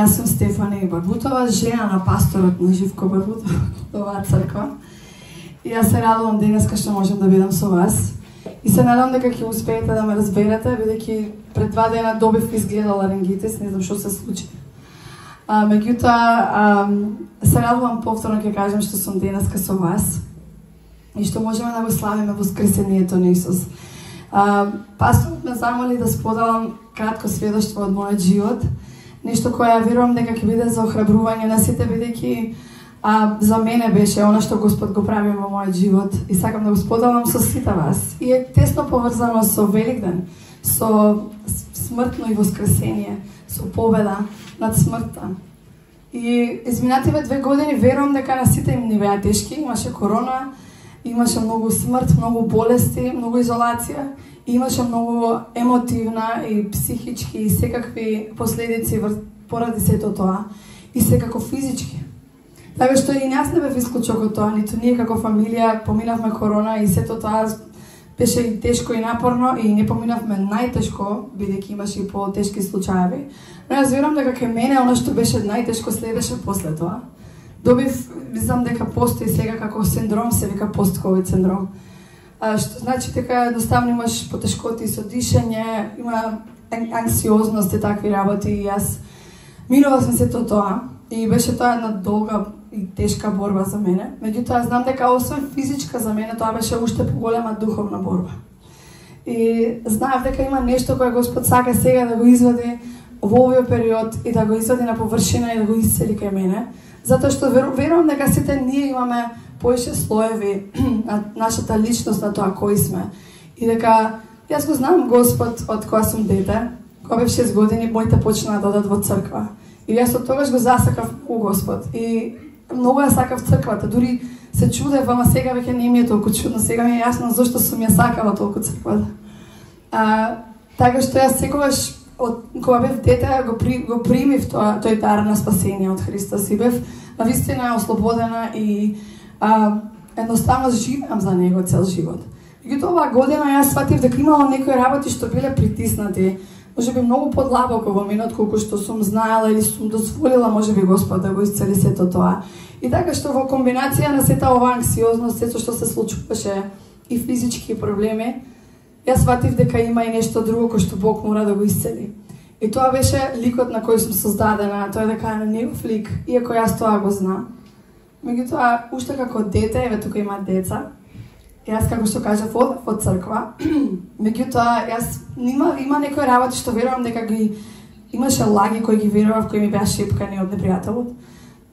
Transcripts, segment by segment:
Јас сум Стефани Барбутова, жена на пасторот на Живко Барбутов, оваа црква. И јас се радувам денеска што можам да бидам со вас. И се надам дека ќе успеете да ме разберете, бидејќи пред 2 дена добив изгледал ларингитис, не знам што се случи. Меѓутоа, се радувам повторно ќе кажам што сум денеска со вас и што можеме да го славиме воскресението на Исус. Пасторот ме замоли да споделам кратко сведоштво од мојот живот, нешто кое ја верувам дека ќе биде за охрабрување на сите, бидејќи за мене беше она што Господ го прави во мојот живот и сакам да го споделам со сите вас. И е тесно поврзано со Великден, со смртно и воскресение, со победа над смртта. И изминативе 2 години верувам дека на сите им ни беа тешки, имаше корона, имаше многу смрт, многу болести, многу изолација, и имаше многу емотивна и психички и секакви последици поради сето тоа, и секако физички. Така што и нас не бев исклучок од тоа, ниту ние како фамилија поминавме корона и сето тоа беше и тешко и напорно и не поминавме најтешко, бидејќи имаше и потешки случаи. Но јас верувам дека кај мене она што беше најтешко следеше после тоа. Добив, знам дека постои сега како синдром, се вика пост-ковид синдром. Што значи дека едноставно имаш потешкоти со дишење, има анксиозност и такви работи и јас минував сме сето тоа и беше тоа една долга и тешка борба за мене. Меѓутоа знам дека освен физичка за мене тоа беше уште поголема духовна борба. И знаев дека има нешто кое Господ сака сега да го извади во овој период и да го извади на површина и да го исцели кај мене. Затоа што верувам дека сите ние имаме поише слоеви на нашата личност, на тоа кои сме. И дека јас го знам Господ од кога сум дете, кога бев 6 години, моите почнаа да одат во црква. И јас од тогаш го засакав у Господ. И многу ја сакав црквата, дури се чудев, ама сега веќе не ми е толку чудно, сега ми е јасно зашто сум ја сакала толку црквата. Така што јас секогаш од кога бев дете го примив тој дар на спасение од Христос и бев навистина ослободена и едноставно живеам за него цел живот. Меѓутоа оваа година јас сватив дека имало некои работи што биле притиснати, можеби многу подлабоко во мене отколку што сум знаела или сум дозволила можеби Господ да го исцели сето тоа. И така што во комбинација на сета оваа анксиозност, сето што се случуваше и физички проблеми, јас сватив дека има и нешто друго кој што Бог мора да го исцели. И тоа беше ликот на кој сум создадена, тоа е дека е на негов лик, иако јас тоа го знам. Меѓутоа, уште како дете, еве тука има деца, јас како што кажав одев од црква, меѓутоа јас има некои работи што верувам дека ги имаше лаги кои ги верував, кои ми беа шепкани од непријателот,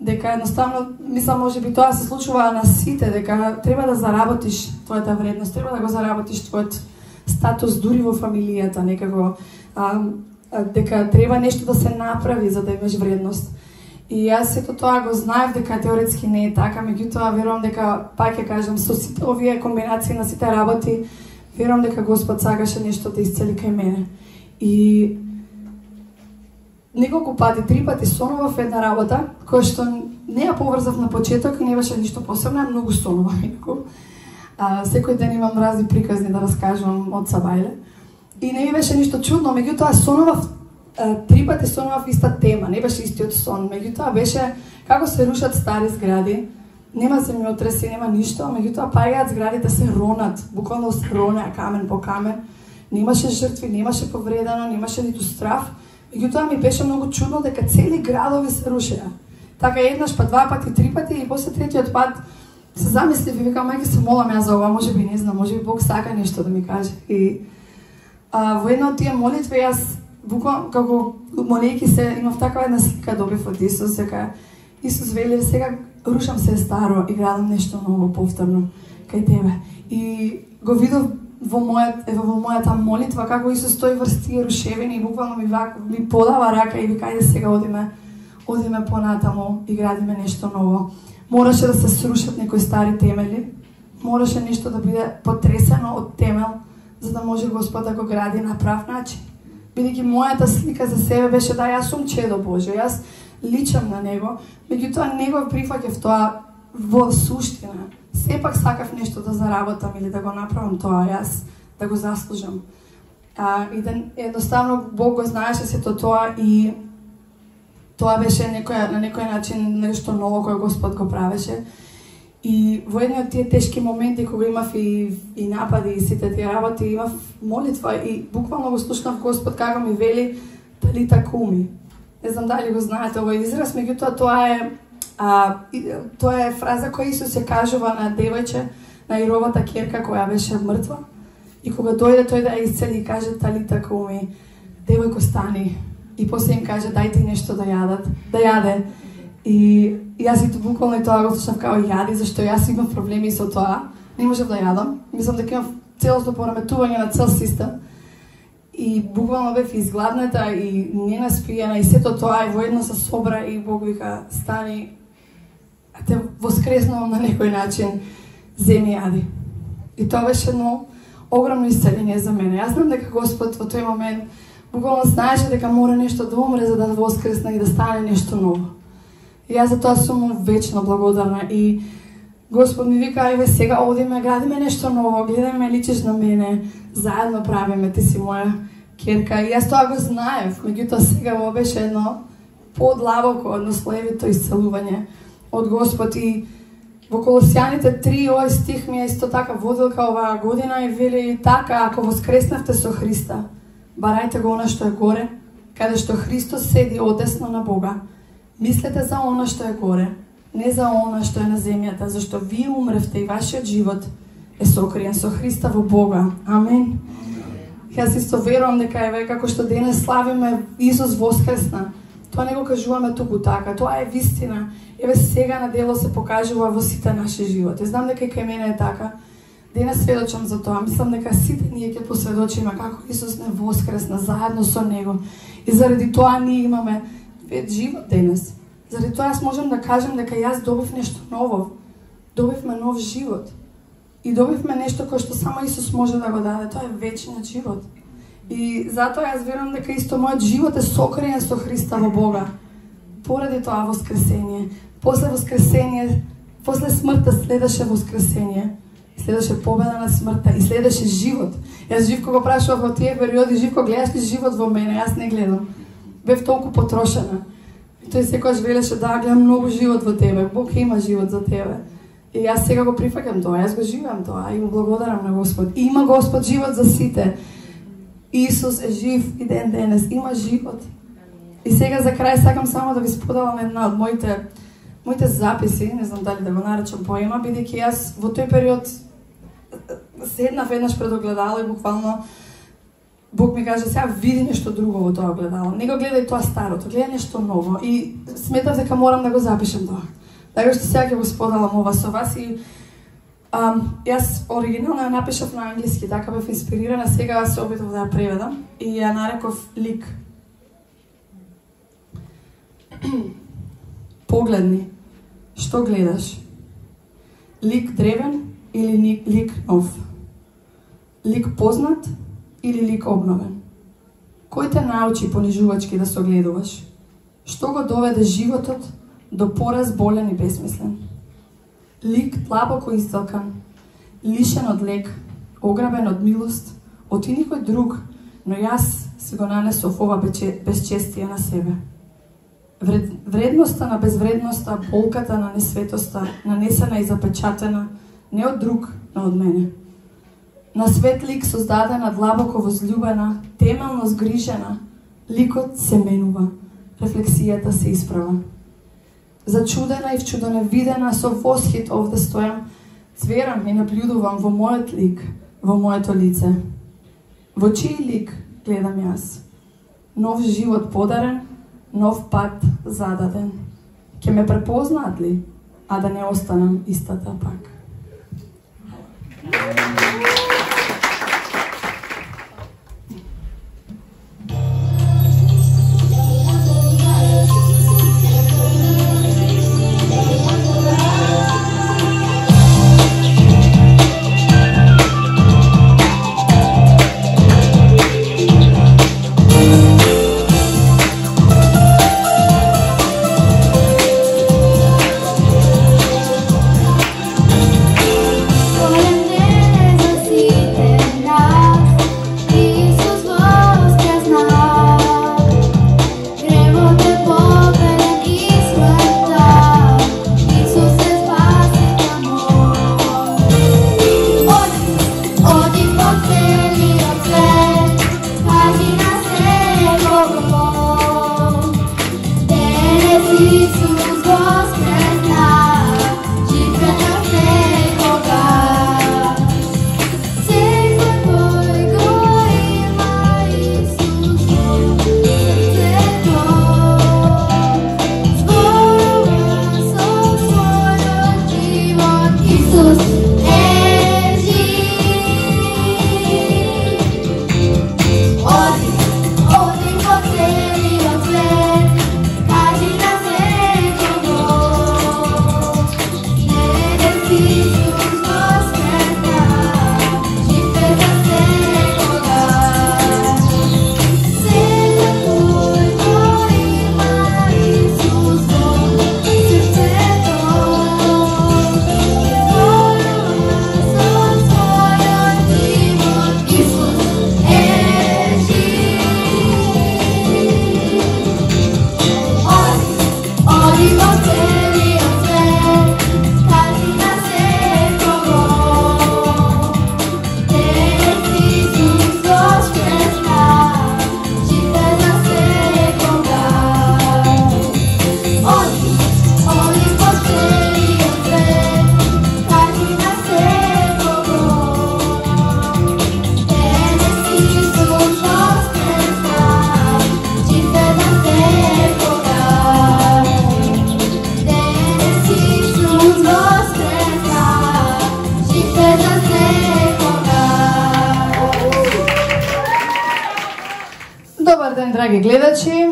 дека едноставно мислам можеби тоа се случува на сите, дека треба да заработиш твојата вредност, треба да го заработиш твојот статус дури во фамилијата, некако дека треба нешто да се направи за да имаш вредност. И јас сето тоа го знаев дека теоретски не е така, меѓутоа верувам дека, пак ќе кажам, со сите овие комбинации на сите работи, верувам дека Господ сакаше нешто да исцели кај мене. И неколку пати, 3 пати сонував една работа, која што не ја поврзав на почеток и не беше ништо посебно, многу сонував инаку. Секој ден имам разни приказни да раскажувам од Сабајле. И не ми беше ништо чудно, меѓутоа сонував 3 пати сонував иста тема, не беше истиот сон, меѓутоа беше како се рушат стари згради, нема земјотреси, нема ништо, меѓутоа паѓаат зградите се ронат, буквално се ронеа камен по камен, немаше жртви, немаше повредено, немаше ниту страф, меѓутоа ми беше многу чудно дека цели градови се рушеа. Така еднаш, па 2 пати, 3 пати и после третиот пат се замислив и викам, мајке се молам ја за ова, можеби не знам, можеби Бог сака нешто да ми каже. И во една од тие молитви јас буквално како молејќи се имав такава една слика добив од Исус, дека Исус вели сега рушам се старо и градам нешто ново повторно кај тебе. И го видов во мојата молитва како Исус стои врз тие рушевини и буквално ми подава рака и вика ајде сега одиме понатаму и градиме нешто ново. Мораше да се срушат некои стари темели, мораше нешто да биде потресено од темел, за да може Господ да го гради на прав начин. Бидејќи мојата слика за себе беше да јас сум чедо Божјо, јас личам на Него, меѓутоа не го прифаќав тоа во суштина. Сепак сакав нешто да заработам или да го направам тоа јас, да го заслужам. И да едноставно Бог го знаеше сето тоа и Тоа беше на некој начин нешто ново кој Господ го правеше. И во едни од тие тешки моменти кога имав и напади и сите тие работи, имав молитва и буквално го слушнав Господ како ми вели талита куми. Не знам дали го знаете овој израз, меѓутоа тоа е фраза која Исус се кажува на девојче, на Ировата ќерка која беше мртва. И кога дојде тој да ја исцели и каже талита куми, девојко стани. И после им каже дајте нешто да јаде. И јас и буквално и тоа го слушнав као јади, зашто јас имам проблеми со тоа. Не можев да јадам. Мислам дека имам целосно пореметување на цел систем. И буквално бев изгладната и ненаспиена и сето тоа и воедно со собра и Бог вика стани, а те воскреснувам на некој начин, земи јади. И тоа беше едно огромно исцеление за мене. Јас знам дека Господ во тој момент буквално знаеше дека мора нешто да умре за да воскресне и да стане нешто ново. И јас за тоа сум вечно благодарна и Господ ми вика, ајде сега одиме, градиме нешто ново, гледај ме, личиш на мене, заедно правиме, ти си моја ќерка. И јас тоа го знаев, меѓутоа сега во беше едно подлабоко, едно слоевито исцелување од Господ. И во Колосјаните 3 овој стих ми е исто така водилка оваа година и вели така, ако воскреснавте со Христа, барајте го она што е горе, каде што Христос седи одесно на Бога. Мислете за она што е горе, не за она што е на земјата, зашто вие умревте и вашиот живот е сокриен со Христа во Бога. Амен. Јас исто верувам дека еве како што денес славиме Исус воскресна. Тоа не го кажуваме туку така, тоа е вистина. Еве сега на дело се покажува во сите наши животи. Знам дека и кај мене е така. Денес сведочам за тоа. Мислам дека сите ние ќе посведочиме како Исус не воскресна заедно со Него. И заради тоа ние имаме живот денес. Заради тоа јас можам да кажам дека јас добив нешто ново. Добивме нов живот. И добивме нешто кое што само Исус може да го даде. Тоа е вечниот живот. И затоа јас верувам дека исто мојот живот е сокриен со Христа во Бога. Поради тоа воскресение. После воскресение, после смртта следеше воскресение. Следеше победа на смртта и следеше живот. Јас Живко го прашував во тие периоди, Живко, гледаш ли живот во мене? Јас не гледам. Бев толку потрошена. И тој секогаш велеше да гледам многу живот во тебе. Бог има живот за тебе. И јас сега го прифаќам тоа, јас го живеам тоа и му благодарам на Господ. И има Господ живот за сите. Исус е жив и ден денес, има живот. И сега за крај сакам само да ви споделам една од моите записи, не знам дали да го наречам поема, бидејќи јас во тој период седнав веднаш пред огледало и буквално Бог ми каже, сега види нешто друго во тоа огледало. Не го гледај тоа старото, гледај нешто ново. И сметав дека морам да го запишем тоа. Така што сега ќе го споделам ова со вас и јас оригинално ја напишав на англиски, така бев инспирирана, сега се обидов да ја преведам и ја нареков лик. Погледни, што гледаш? Лик древен или лик нов? Лик познат или лик обновен? Кој те научи понижувачки да се огледуваш? Што го доведе животот до пораз болен и безмислен? Лик длабоко издалкан, лишен од лек, ограбен од милост, од и никој друг, но јас си го нанесов ова безчестие на себе. Вредноста на безвредноста, болката на несветоста, нанесена и запечатена, не од друг, но од мене. На свет лик создадена, длабоко возлюбена, темелно згрижена, ликот се менува, рефлексијата се исправа. Зачудена и вчудоневидена, со восхит овде стојам, цверам и наблюдувам во мојот лик, во моето лице. Во чиј лик гледам јас? Нов живот подарен, нов пат зададен. Ке ме препознаат ли, а да не останам истата пак? драги гледачи,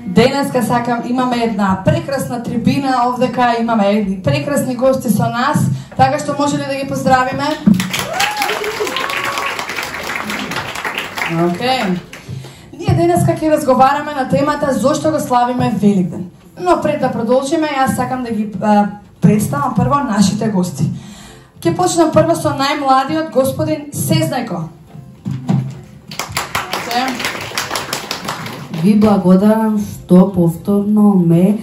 денеска сакам, имаме една прекрасна трибина овдека, имаме едни прекрасни гости со нас, така што може ли да ги поздравиме? Океј. Ние денеска ќе разговараме на темата зошто го славиме Великден. Но пред да продолжиме, јас сакам да ги представам прво нашите гости. Ќе почнам прво со најмладиот господин Сезнајко. Ви благодарам што повторно ме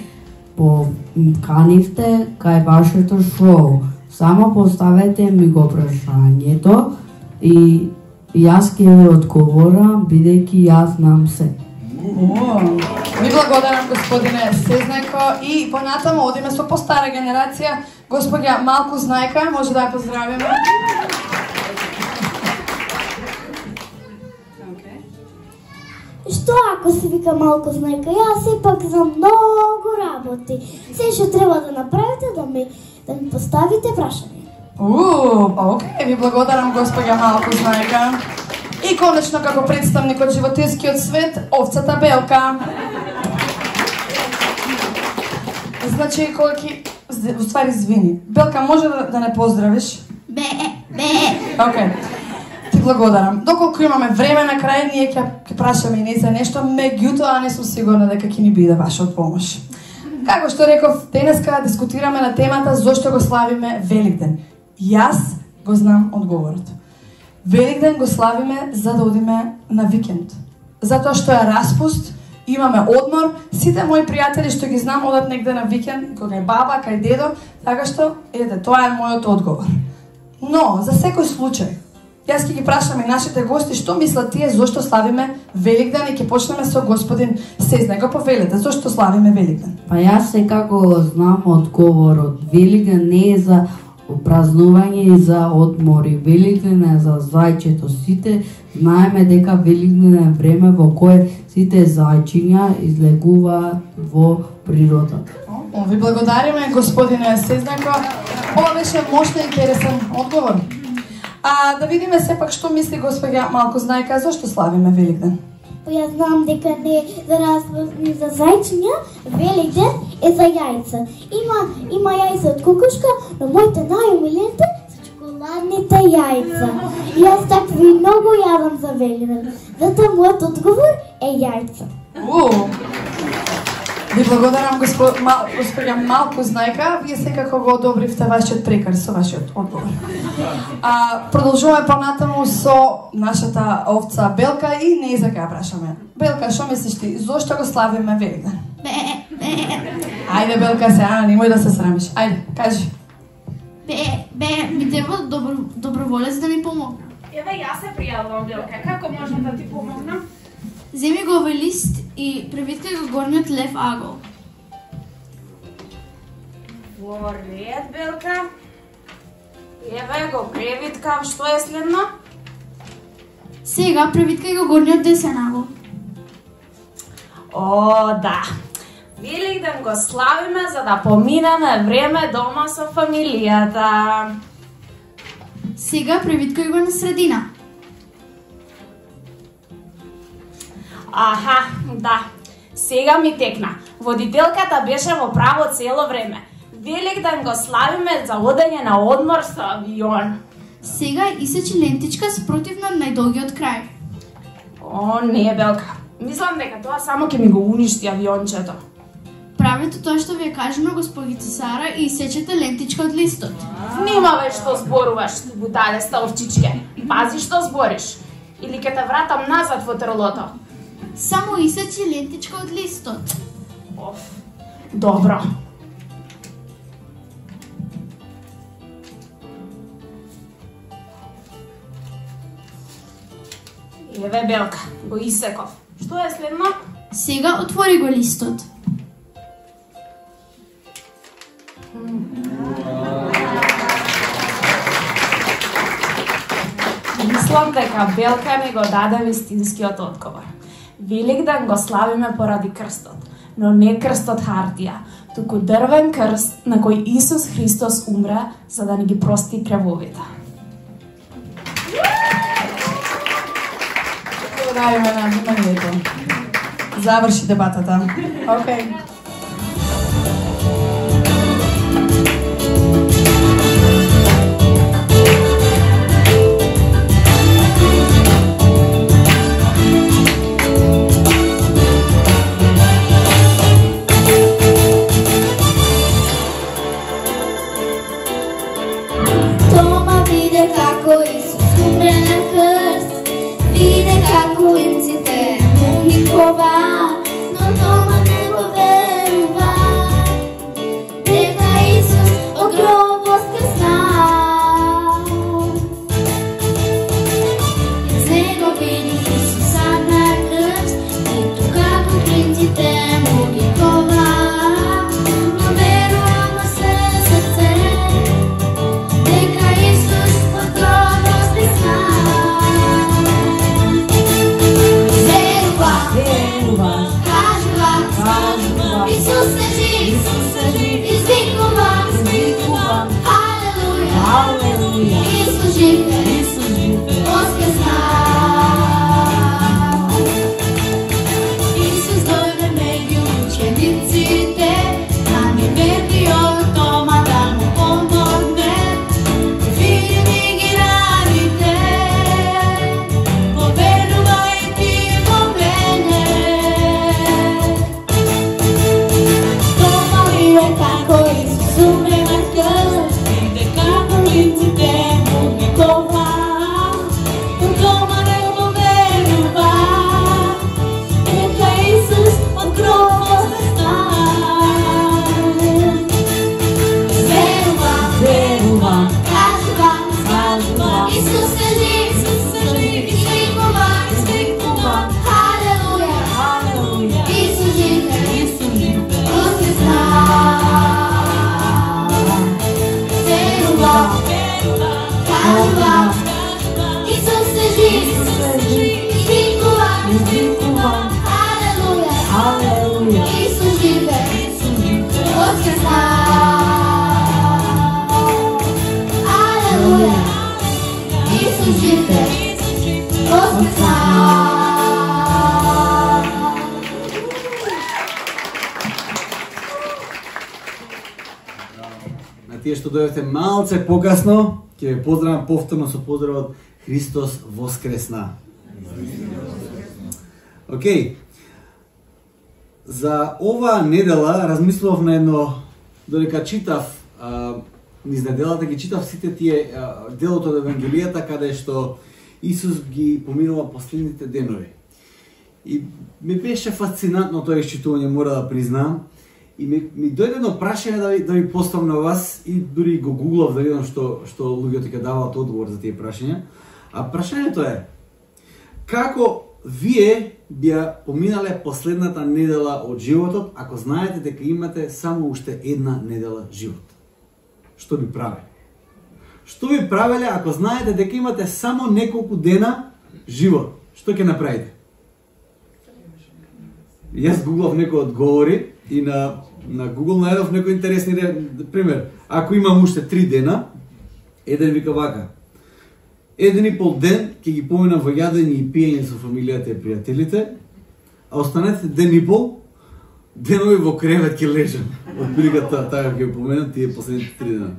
поканивте кај вашето шоу. Само поставете ми го прашањето и јас ќе ви одговорам, бидејќи јас знам се. Ви благодарам, господине Сезнајко, и понатаму одиме со постара генерација, господја Малку Знајка, може да ја поздравиме. Што ако се вика Малку Знајка? Јас сепак за многу работи. Се што треба да направите да ми поставите прашање. Океј, ви благодарам, господја Малку Знајка. И конечно, како представник од животинскиот свет, овцата Белка. Значи, кога ќе... Уствари, извини. Белка, може да не поздравиш? Океј. Ти благодарам. Доколку имаме време на крај, ние ќе прашаме и не за нешто, меѓутоа не сум сигурна дека ќе ни биде ваша од помош. Како што реков, денеска дискутираме на темата зошто го славиме Великден. Јас го знам одговорот. Великден го славиме за да одиме на викенд. Затоа што е распуст, имаме одмор, сите мои пријатели што ги знам одат негде на викенд, кога е баба, кај дедо, така што, тоа е мојот одговор. Но, за секој случај, јас ќе ги прашам и нашите гости што мислат тие зошто славиме Великден и ќе почнеме со господин Сезнајко. Повелете, зошто славиме Великден? Па јас секако го знам одговорот. Великден не е за празнување и за одмори. Великден е за зајчето. Сите знаеме дека Великден е време во кое сите зајчиња излегуваат во природата. Ви благодариме, господине Сезнајко. Ова беше мощен и интересен одговор. Да видиме сепак што мисли господја Малку Знајка, зошто славиме Великден? Јас знам дека не за разни за зајчиња, Великден е за јајца. Има јајца од кукушка, но моите најомилените се чоколадните јајца. Јас такви многу јадам за Великден. Затоа мојот одговор е јајца. Ви благодарам, господја Малку Знајка. Вие секако го одобривте вашиот прекар со вашиот одговор. Продолжуваме понатаму со нашата овца Белка и не за кај прашаме. Белка, што мислиш ти? Зошто го славиме Великден? Ајде, Белка, сега немој да се срамиш. Ајде, кажи. Ми треба доброволец да ми помогне. Еве, јас се пријавувам, Белка. Како можам да ти помогнам? Земи го овој лист и превиткај го горниот лев агол. Во ред, Белка. Еве го превиткав, што е следно? Сега превиткај го горниот десен агол. Да. Великден го славиме за да поминеме време дома со фамилијата. Сега превиткај го на средина. Да. Сега ми текна. Водителката беше во право цело време. Великден го славиме за одење на одмор со авион. Сега исечи лентичка спротивно најдолгиот крај. Не, Белка. Мислам дека тоа само ќе ми го уништи авиончето. Правете тоа што ви е кажано, господица Сара, и исечете лентичка од листот. Внимавај што зборуваш, буталеста овчичке. Пази што збориш. Или ќе те вратам назад во трлото. Само исечи лентичка од листот. Добро. Еве, Белка, го исеков. Што е следно? Сега отвори го листот. Мислам дека Белка ми го даде вистинскиот одговор. Великден го славиме поради крстот, но не крстот хартија, туку дрвен крст на кој Исус Христос умре за да ни ги прости кревовите. Благодариме на вниманието. заврши дебатата. Океј. Тома виде како Исус умре на крст, виде како инците му ги кова, но Тома не го верува, дека Исус од гроб воскресна. Из него види Исуса на крст, и како инците му ги кова, но верувам во све срце, дека Исус од гроб воскресна. Верувам, кажувам, Исус е жив, извикувам, алелуја, Исус жив е, воскресна. Исус дојде меѓу учениците, да ми вети од Тома да му помогне, види ги раните, поверувај ти во мене. Тома виде како Исус умре на крст, виде како инците му ги кова, но Тома не го верува, дека Исус од гроб воскресна. Верувам, кажувам, Исус е жив, извикувам, алелуја, Исус жив е, воскресна. Верувам, кажувам, Исус е жив, извикувам, алелуја, Исус жив е, воскресна. Алелуја, Исус жив е, воскресна. На тие што дојдете малце покасно, ќе ве поздравам повторно со поздравот Христос воскресна. Океј. За ова недела размислував на едно, додека читав низ неделата ги читав сите тие делот од Евангелијата каде што Исус ги поминува последните денови. И ми беше фасцинантно тоа исчитување, мора да признаам. И ми дојде едно прашање да ви поставам на вас и дури го гуглав да видам што луѓето ќе даваат одговор за тие прашања. А прашањето е: како вие би поминале последната недела од животот ако знаете дека имате само уште една недела живот? Што би правеле? Што би правеле ако знаете дека имате само неколку дена живот? Што ќе направите? Јас гуглав некои одговори и на Google најдов некои интересни пример. Ако имам уште 3 дена, еден вика вака: 1,5 ден ќе ги поминам во јадење и пиење со фамилијата и пријателите, а останете ден и пол денови во кревет ќе лежам. Од бригата таа ќе поминам тие последните 3 дена.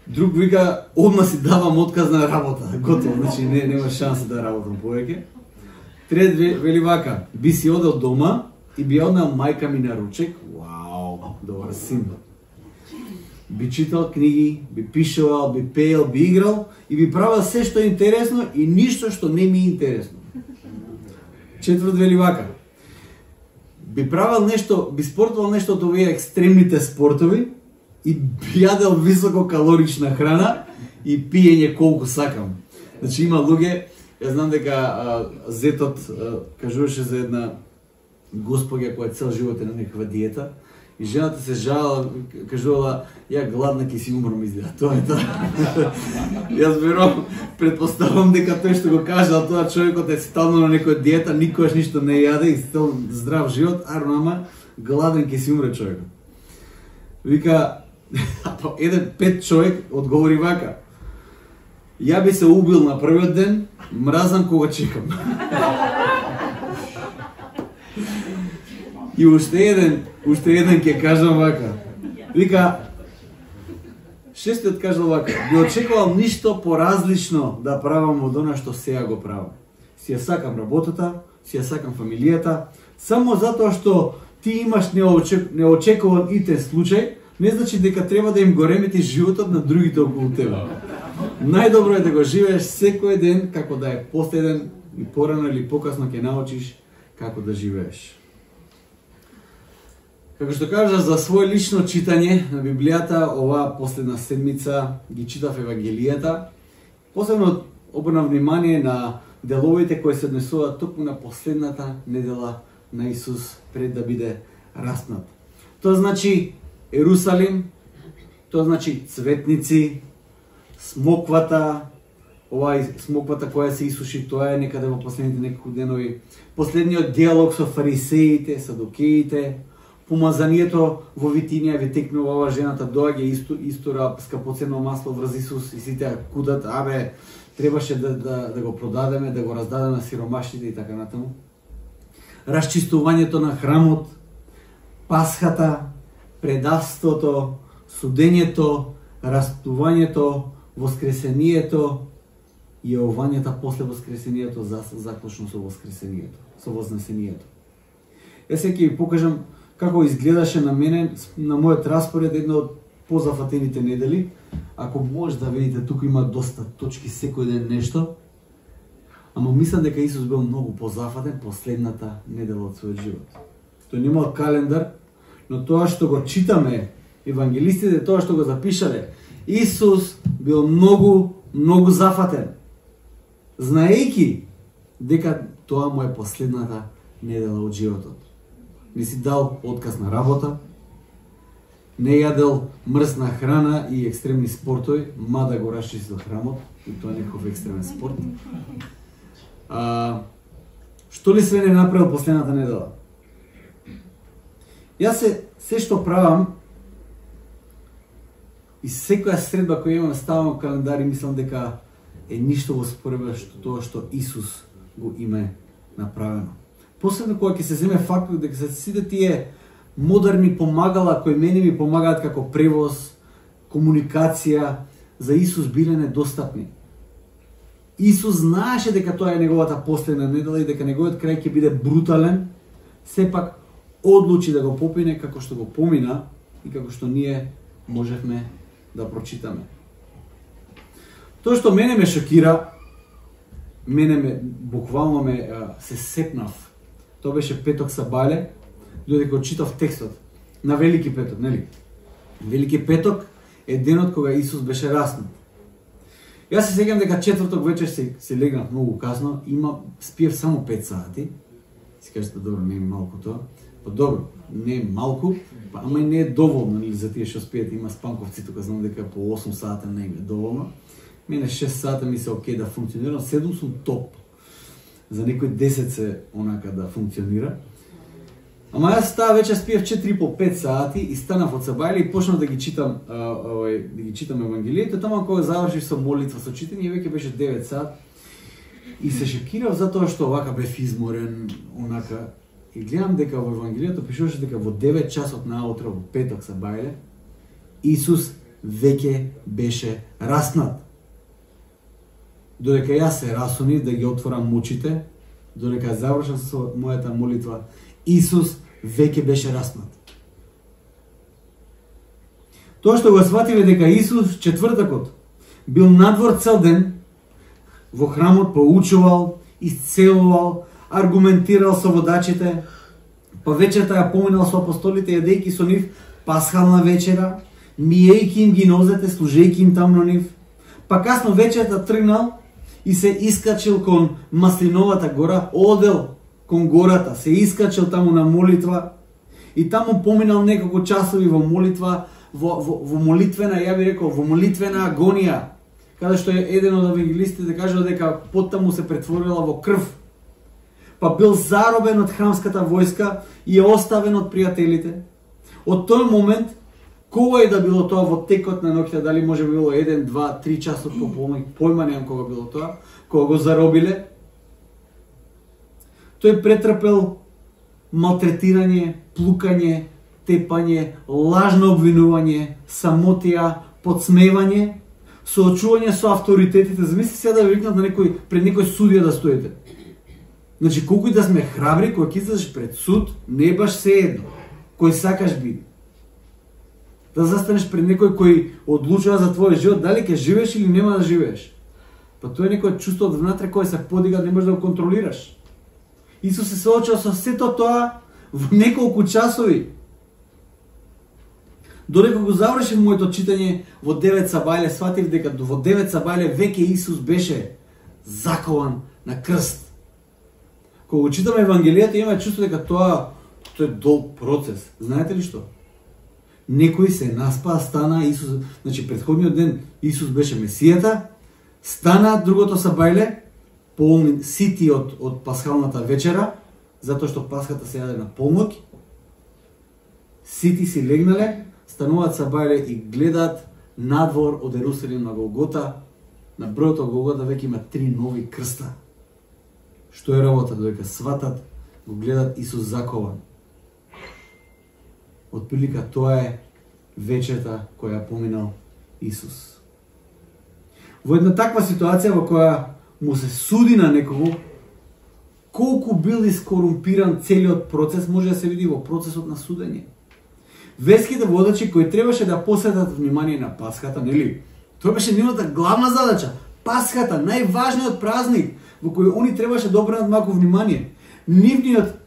Друг вика: одма си давам отказ на работа. Готово, значи нема шанса да работам повеќе. Трет вели вака: би си одел дома и би однел мајка ми на ручек. Вау, добар син. Би читал книги, би пишувал, би пеел, би играл и би правил се што е интересно и ништо што не ми е интересно. Четврт вели вака: би правил нешто, би спортувал нешто од овие екстремните спортови и би јадел висококалорична храна и пиење колку сакам. Значи има луѓе, јас знам дека зетот кажуваше за една госпоѓа која цел живот е на некаква диета и жената се жалала, кажувала: ја гладна ќе си умрам изгледа. Тоа е тоа. Јас верувам, предпоставам дека тој што го кажал тоа човекот е стално на некоја диета, никогаш ништо не јаде и стел здрав живот, ама гладен ќе си умре човекот. Вика, еден 5 човек одговори вака: ја би се убил на првиот ден, мразам кога чекам. И уште еден ќе кажам вака. Вика, шестиот кажал вака, би очекувал ништо поразлично да правам од она што сега го правам. Си ја сакам работата, си ја сакам фамилијата, само затоа што ти имаш неочекуван итен случај, не значи дека треба да им го реметиш животот на другите околу тебе. Најдобро е да го живееш секој ден, како да е последен и порано или покасно ќе научиш како да живееш. Како што кажа за свој лично читање на Библијата, оваа последна седмица ги читав Евангелијата. Посебно обрнав внимание на деловите кои се однесуваат токму на последната недела на Исус пред да биде распнат. Тоа значи Ерусалим, тоа значи цветници, смоквата, смоквата која се исуши, тоа е некаде во последните неколку денови. Последниот диалог со фарисеите, садукеите, помазанието во Витинија, ви текнува ова жената, доаѓа истора скапоценно масло врз Исус и сите кудат, требаше да го продадеме, да го раздадеме на сиромашните и така натаму. Расчистувањето на храмот, Пасхата, предавството, судењето, распнувањето, воскресението и јавувањето после воскресението, заклучно со воскресението, со вознесението. Јас сега ќе ви покажам како изгледаше на мене, на мојот распоред, една од позафатените недели. Ако може да видите, тука има доста точки, секој ден нешто. Ама мислам дека Исус бил многу позафатен последната недела од својот живот. Тој немал календар, но тоа што го читаме, евангелистите, тоа што го запишале, Исус бил многу зафатен, знаејќи дека тоа му е последната недела од животот. Не си дал отказ на работа, не јадел мрсна храна и екстремни спортови, мада го расчистил храмот, и тоа е некој екстремен спорт. Што ли све не направил последната недела? Јас се што правам и секоја средба која имам ставам календар и мислам дека е ништо во споредба што тоа што Исус го има направено. Посебно кога ќе се земе фактот дека се сите тие модерни помагала кои мене ми помагаат како превоз, комуникација, за Исус биле недостапни. Исус знаеше дека тоа е неговата последна недела и дека неговиот крај ќе биде брутален, сепак одлучи да го попине како што го помина и како што ние можевме да прочитаме. Тоа што мене ме шокира, буквално се сепнав. Тоа беше петок сабале, додека читав текстот на Велики петок, нели? Велики петок е денот кога Исус беше распнат. Јас се сеќавам дека четврток вечер се легнав многу касно, спиев само 5 сати. Си кажете, добро, не е малку тоа. Па добро, не е малку, ама и не е доволно, нели, за тие што спијат, има спанковци тука, знам дека по 8 сата не е доволно. Мене 6 сата ми се окей да функционирам, 7 сум топ. За некој 10 се онака да функционира. Ама јас таа вечер спиев 4 по 5 сати и станав од сабајле и почнав да ги читам Евангелието. Тама кога завршив со молитва, со читање, веќе беше 9 сат. И се шокирав затоа што вака бев изморен, онака. И гледам дека во Евангелието пишуваше дека во 9 часот наутро, во петок сабајле, Исус веќе беше распнат. Додека јас се расунив да ги отворам очите, додека завршам со мојата молитва, Исус веќе беше распнат. Тоа што го свативе дека Исус четвртакот бил надвор цел ден, во храмот поучувал, исцелувал, аргументирал со водачите, па вечерта ја поминал со апостолите, јадејќи со нив пасхална вечера, миејќи им ги нозете, служејќи им таму на нив, па касно вечерта тргнал и се искачил кон Маслиновата гора, одел кон гората, се искачил таму на молитва и таму поминал неколку часови во молитва, во молитвена, ја би рекол, во молитвена агонија, каде што е еден од евангелистите кажува дека поттаму се претворила во крв. Па бил заробен од храмската војска и е оставен од пријателите. Од тој момент, кога и да било тоа во текот на ноќта, дали може би било 1, 2, 3 часот појма немам кога било тоа, кога го заробиле, тој претрпел малтретирање, плукање, тепање, лажно обвинување, самотија, подсмевање, соочување со авторитетите. Замисли сега да ви викнат на некој, пред некој судија да стоите. Значи, колку и да сме храбри, кога ќе излезеш пред суд, не баш се едно. Кој сакаш биде. Да застанеш пред некој кој одлучува за твојот живот, дали ќе живееш или нема да живееш. Па тоа е некој чувство од внатре кој се подига, не можеш да го контролираш. Исус се соочува со сето тоа во неколку часови. Додека го завршив моето читање во 9 сабајле, сватив дека во 9 сабајле веќе Исус беше закован на крст. Кога го читаме Евангелијата, имаме чувство дека тоа е долг процес. Знаете ли што? Некој се наспа, стана Исус, значи претходниот ден Исус беше Месијата, стана другото сабајле, полни сити од пасхалната вечера, затоа што пасхата се јаде на полноќ. Сити си легнале, стануваат сабајле и гледаат надвор од Ерусалим на Голгота. На бројот од Голгота веќе има 3 нови крста. Што е работа? Додека сватат, го гледат Исус закован. Отприлика тоа е вечерта која поминал Исус. Во една таква ситуација во која му се суди на некого, колку бил искорумпиран целиот процес, може да се види во процесот на судење. Верските водачи кои требаше да посветат внимание на Пасхата, нели? Тоа беше нивната главна задача. Пасхата, најважниот празник во кој они требаше да обрнат малку внимание. Нивниот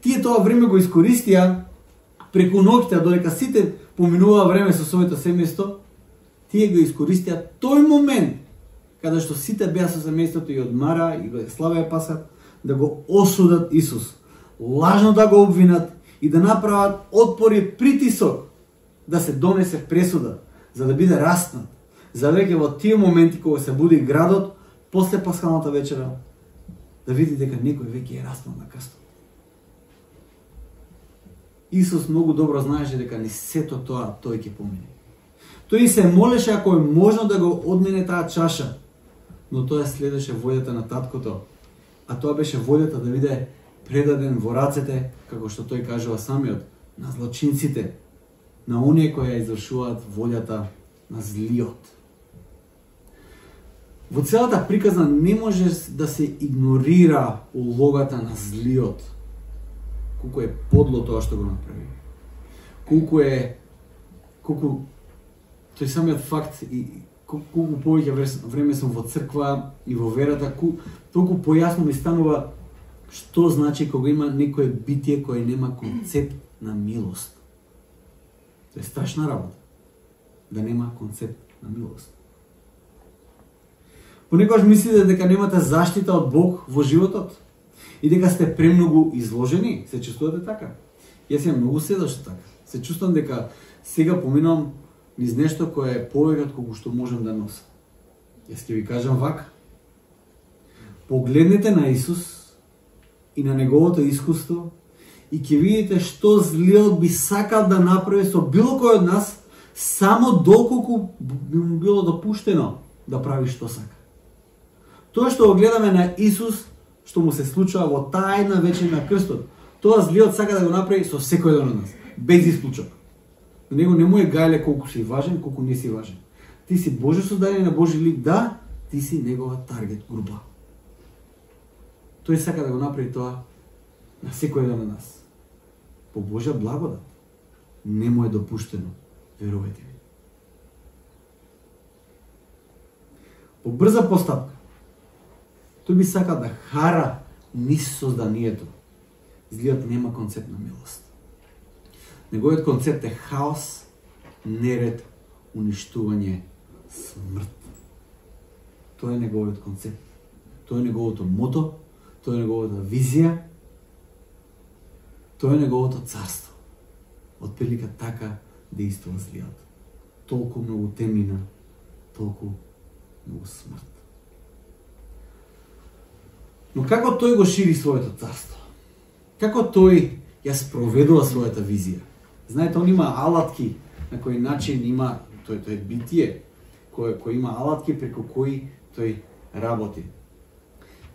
тие тоа време го искористија преку ноќта, додека сите поминуваа време со своето семејство, тие го искористија тој момент каде што сите беа со семејството и одмара и го славеа Пасхата, да го осудат Исус, лажно да го обвинат и да направат отпор и притисок да се донесе пресуда, за да биде распнат. За веќе во тие моменти кога се буди градот, после пасхалната вечера, да види дека некој веќе е распнат на крстот. Исус многу добро знаеше дека ни сето тоа тој ќе помине. Тој се молеше ако е можно да го одмине таа чаша, но тоа следеше волјата на таткото, а тоа беше волјата да биде предаден во рацете, како што тој кажува самиот, на злочинците, на оние кои ја извршуваат волјата на злиот. Во целата приказна не може да се игнорира улогата на злиот. Колку е подло тоа што го направи. Колку тој самиот факт и колку повеќе време сум во црква и во верата, толку појасно ми станува што значи кога има некое битие кое нема концепт на милост. Тоа е страшна работа. Да нема концепт на милост. Понекогаш мислите дека немате заштита од Бог во животот и дека сте премногу изложени, се чувствувате така. Јас имам многу седошто така. Се чувствам дека сега поминам низ нешто кое е повеќе од колку што можам да носам. Јас ќе ви кажам вака. Погледнете на Исус и на неговото искуство и ќе видите што злиот би сакал да направи со било кој од нас, само доколку би му било допуштено да прави што сака. Тоа што го гледаме на Исус, што му се случува во таа една вечер на крстот, тоа злиот сака да го направи со секој еден од нас, без исклучок. На него не му е гајле колку си важен, колку не си важен. Ти си Божјо создадение на Божји лик, да, ти си негова таргет група. Тој сака да го направи тоа на секој еден од нас. По Божја благодат. Не му е допуштено, верувајте ми. По брза постапка, тој би сакал да хара низ созданието. Злиот нема концепт на милост. Неговиот концепт е хаос, неред, уништување, смрт. Тоа е неговиот концепт. Тоа е неговото мото, тоа е неговата визија, тоа е неговото царство. Отприлика така действува злиот. Толку многу темнина, толку многу смрт. Но како тој го шири своето царство? Како тој ја спроведува својата визија? Знаете, он има алатки на кој начин има тој е битие, кој има алатки преку кои тој работи.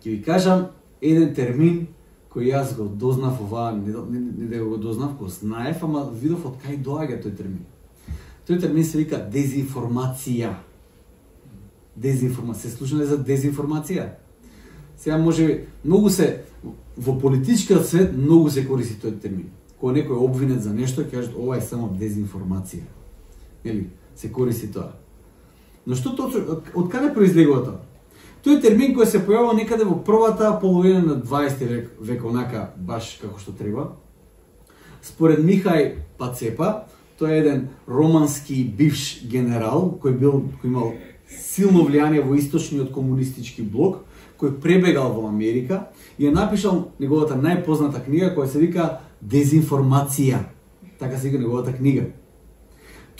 Ќе ви кажам еден термин кој јас го дознав ова, не да го дознав, го знаев, ама видов од кај доаѓа тој термин. Тој термин се вика дезинформација. Дезинформација. Се слушнале за дезинформација? Сега може многу се во политичкиот свет многу се користи тој термин. Кога некој е обвинет за нешто, ќе кажат ова е само дезинформација. Нели? Се користи тоа. Но што точно од каде произлегува тоа? Тој термин кој се појавува некаде во првата половина на 20 век онака баш како што треба. Според Михај Пацепа, тој е еден романски бивш генерал кој имал силно влијание во источниот комунистички блок, кој пребегал во Америка и е напишал неговата најпозната книга која се вика Дезинформација. Така се вика неговата книга.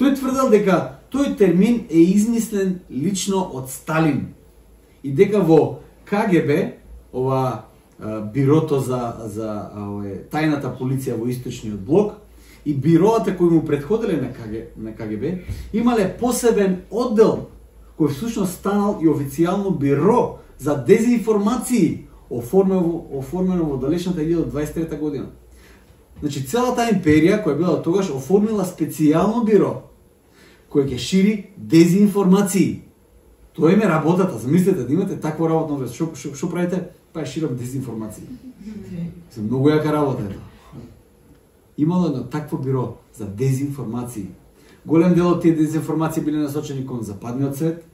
Тој тврдел дека тој термин е измислен лично од Сталин и дека во КГБ, ова бирото за тајната полиција во источниот блок и бироата кои му претходеле на КГБ имале посебен оддел кој всушност станал и официјално биро за дезинформации оформено во далечната 1923 година. Значи целата империја која била тогаш оформила специјално биро кој ќе шири дезинформации. Тоа им е работата. Замислете да имате таква работно место. Што правите? Па ширам дезинформации. Се многу јака работа е тоа. Имало едно такво биро за дезинформации. Голем дел од тие дезинформации биле насочени кон западниот свет,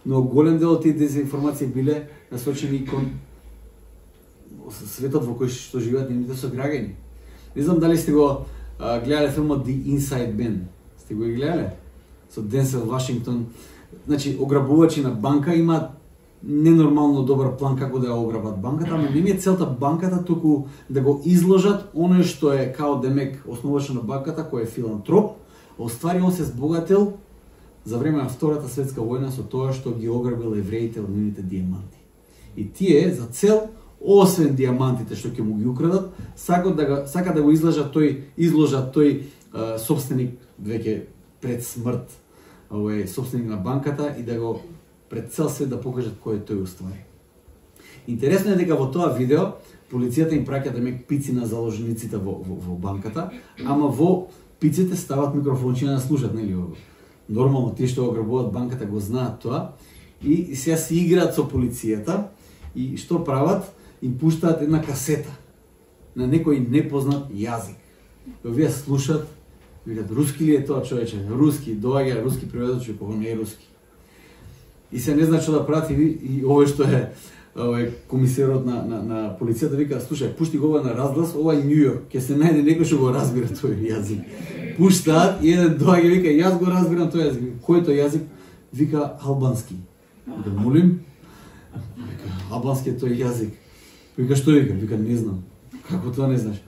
но голем дел од тие дезинформации биле насочени кон светот во кој што живеат нивните сограѓани. Не знам дали сте го гледале филмот The Inside Man. Сте го гледале? Со Денсел Вашингтон. Значи, ограбувачи на банка имаат ненормално добар план како да ја ограбат банката, ама не е целта банката, туку да го изложат оној што е као демек основач на банката, кој е филантроп, оствари он се збогател за време на Втората светска војна со тоа што ги ограбил евреите од нивните дијаманти. И тие за цел, освен дијамантите што ќе му ги украдат, сака да го изложат тој собственик веќе пред смрт, овој собственик на банката и да го пред цел свет да покажат кој е тој уствари. Интересно е дека во тоа видео полицијата им праќа демек пици на заложниците во банката, ама во пиците стават микрофончи да слушат, нели? Нормално тие што ограбуваат банката го знаат тоа и сега си играат со полицијата и што прават? Им пуштаат една касета на некој непознат јазик. Овие слушат, викат руски ли е тоа човече? Руски, доаѓа руски преводач, кога не е руски. И се не знае што да прати и овој што е комисарот на полицијата вика, слушај, пушти го ова на разглас, ова е Њујорк, ќе се најде некој што го разбира тој јазик. Пуштаат и еден доаѓа вика, јас го разбирам тој јазик. Кој е тој јазик? Вика албански. Вика, молим? Вика, албански е тој јазик. Вика, што вика? Вика, не знам. Како тоа не знаеш?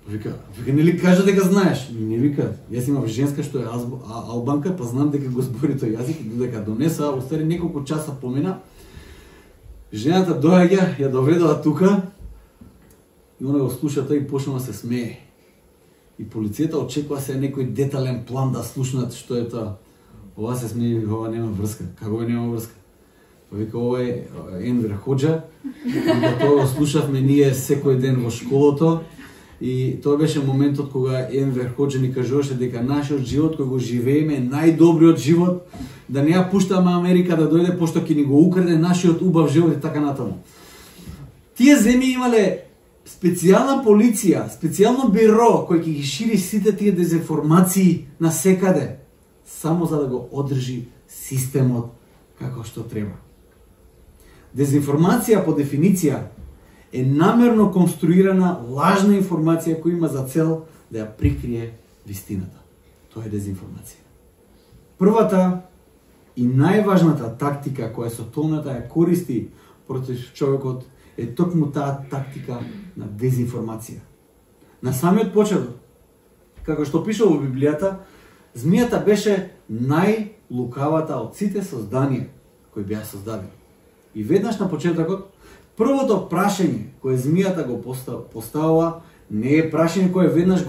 Вика, нели кажа дека знаеш? Не вика, јас имам женска што е албанка, па знам дека го збори тој јазик и додека донеса, остари неколку часа помина. Жената доаѓа, ја доведала тука и она го слуша тој и почнува да се смее. И полицијата очекува се некој детален план да слушнат што е тоа. Ова се смее, вика, ова нема врска. Како нема врска? Па вика, ова е Енвер Хоџа. Вика, тоа го слушавме ние секој ден во школото. И тоа беше моментот кога Енвер Хоџа ни кажуваше дека нашиот живот кој го живееме е најдобриот живот, да не ја пуштаме Америка да дојде пошто ќе ни го украде нашиот убав живот и така натаму. Тие земји имале специјална полиција, специјално биро кој ќе ги шири сите тие дезинформации на секаде, само за да го одржи системот како што треба. Дезинформација по дефиниција е намерно конструирана лажна информација која има за цел да ја прикрие вистината. Тоа е дезинформација. Првата и најважната тактика која сотоната ја користи против човекот е токму таа тактика на дезинформација. На самиот почеток, како што пише во Библијата, змијата беше најлукавата од сите созданија кои беа создадени. И веднаш на почетокот, првото прашање кое змијата го поставува не е прашање кое веднаш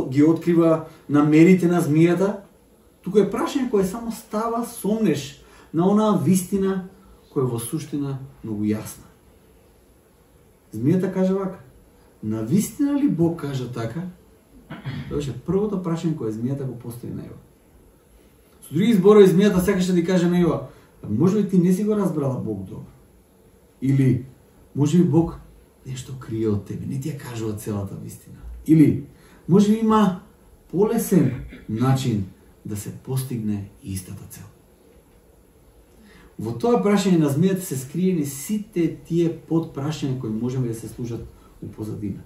ги открива намерите на змијата, туку е прашање кое само става сомнеш на онаа вистина која во суштина многу јасна. Змијата каже вака: навистина ли Бог кажа така? Тоа беше првото прашање кое змијата го постави на Ева. Со други зборови, змијата сакаше да ти каже на Ева: може би ти не си го разбрала Бог добро? Или може би Бог нешто крие од тебе, не ти ја кажува целата вистина? Или може би има полесен начин да се постигне истата цел? Во тоа прашање на змијата се скриени сите тие подпрашања кои можеме да се служат у позадина.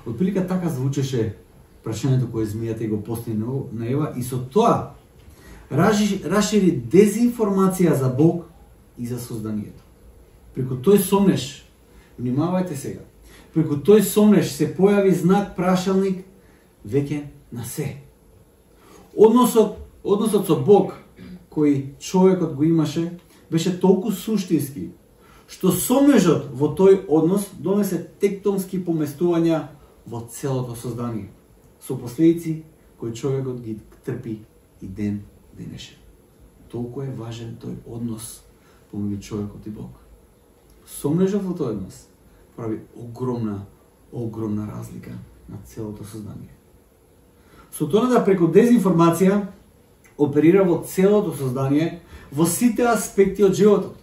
Отприлика така звучеше прашањето кое змијата го постави на Ева, и со тоа расшири дезинформација за Бог и за созданието. Преку тој сомнеш, внимавајте сега, преку тој сомнеш се појави знак прашалник веќе на се. Односот со Бог кој човекот го имаше беше толку суштински, што сомнежот во тој однос донесе тектонски поместувања во целото создание, со последици кои човекот ги трпи и ден денешен. Толку е важен тој однос помеѓу човекот и Бог. Сомнежот во тој однос прави огромна разлика на целото создание. Сатаната преку дезинформација оперира во целото создание, во сите аспекти од животот.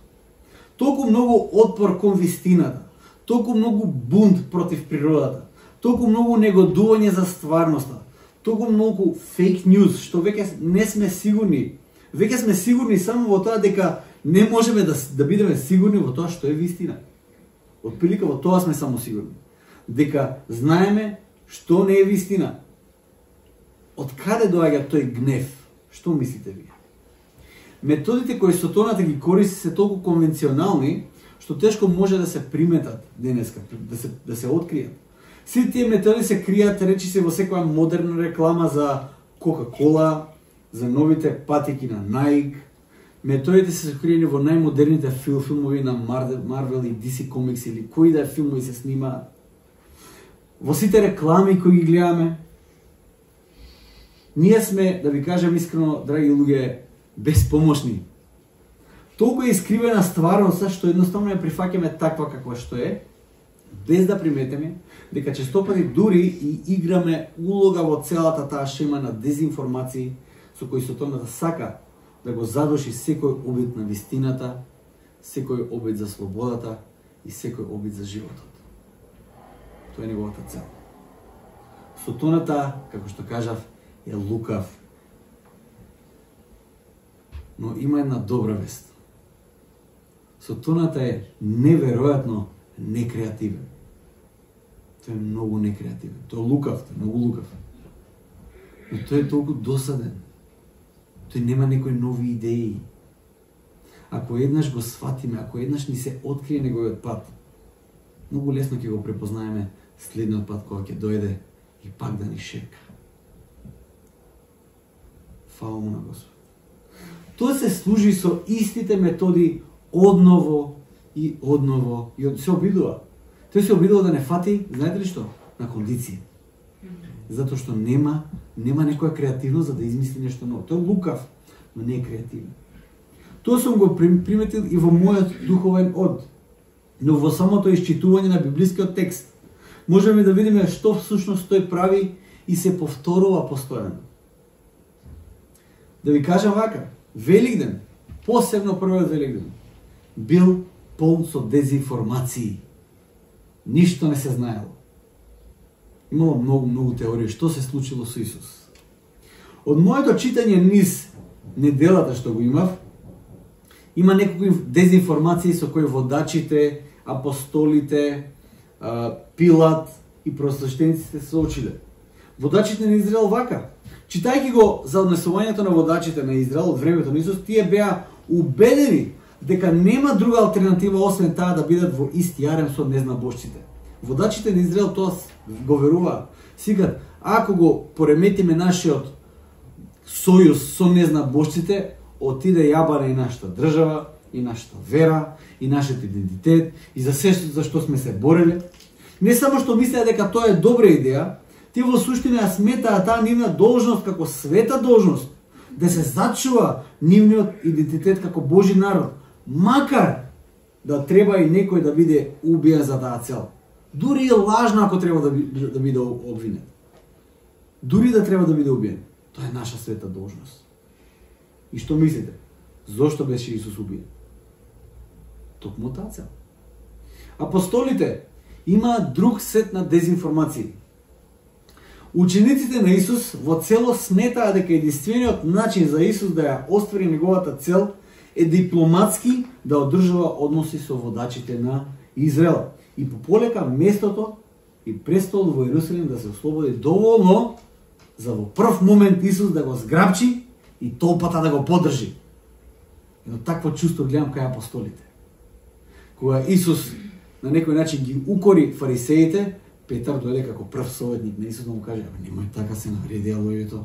Толку многу отпор кон вистината, толку многу бунт против природата, толку многу негодување за стварноста, толку многу фейк ньюз, што веќе не сме сигурни. Веќе сме сигурни само во тоа дека не можеме да бидеме сигурни во тоа што е вистина. Отприлика во тоа сме само сигурни. Дека знаеме што не е вистина. Од каде доаѓа тој гнев? Што мислите вие? Методите кои сатаната ги користи се толку конвенционални, што тешко може да се приметат денеска, да се откријат. Сите тие методи се кријат, речи се, во секоја модерна реклама за Кока-кола, за новите патики на Nike. Методите се скриени во најмодерните филмови на Marvel и DC Comics или кои да филмови се снимаат. Во сите реклами кои ги гледаме. Ние сме, да ви кажем искрено, драги луѓе, безпомошни. Толку е искривена стварноста што едноставно ја прифаќаме таква каква што е, без да приметиме дека честопати дури и играме улога во целата таа шема на дезинформации со кои сатаната сака да го задуши секој обид на вистината, секој обид за слободата и секој обид за животот. Тоа е неговата цел. Сатаната, како што кажав, е лукав. Но има една добра вест. Сатаната е неверојатно некреативен. Тој е многу некреативен. Тој е лукав, тој е многу лукав. Но тој е толку досаден. Тој нема некои нови идеи. Ако еднаш го сватиме, ако еднаш ни се открие неговиот пат, многу лесно ќе го препознаеме следниот пат кога ќе дојде и пак да ни шепка. Фала му на Господ. Тој се служи со истите методи одново и се обидува. Тој се обидува да не фати, знаете ли што? На кондиција. Затоа што нема некоја креативност за да измисли нешто ново. Тој е лукав, но не е креативен. Тоа сум го приметил и во мојот духовен од. Но во самото исчитување на библискиот текст можеме да видиме што всушност тој прави и се повторува постојано. Да ви кажам вака, Великден, посебно првиот Великден, бил полн со дезинформации. Ништо не се знаело. Имало многу теории што се случило со Исус. Од моето читање низ неделата што го имав, има некои дезинформации со кои водачите, апостолите, Пилат и просвещениците се соочиле. Водачите на Израел вака. Читајќи го за однесувањето на водачите на Израел од времето на Исус, тие беа убедени дека нема друга алтернатива освен таа да бидат во ист јарем со незнабожците. Водачите на Израел тоа го веруваат. Сега, ако го пореметиме нашиот сојуз со незнабожците, отиде јабане и нашата држава, и нашата вера, и нашиот идентитет, и за се за што сме се бореле. Не само што мислеа дека тоа е добра идеја, тие во суштина ја сметаа таа нивна должност како света должност, да се зачува нивниот идентитет како Божи народ, макар да треба и некој да биде убиен за таа цел. Дури е лажно ако треба да биде обвинет. Дури да треба да биде убиен. Тоа е наша света должност. И што мислите? Зошто беше Исус убиен? Токму таа цел. Апостолите имаат друг сет на дезинформации. Учениците на Исус во целост сметаа дека единствениот начин за Исус да ја оствари неговата цел е дипломатски да одржува односи со водачите на Израел и пополека местото и престолот во Иерусалим да се ослободи доволно за во прв момент Исус да го зграбчи и толпата да го поддржи. Едно такво чувство гледам кај апостолите. Кога Исус на некој начин ги укори фарисеите, Петар дојде како прв советник на Исус да му каже: "Немој така, се навреди луѓето.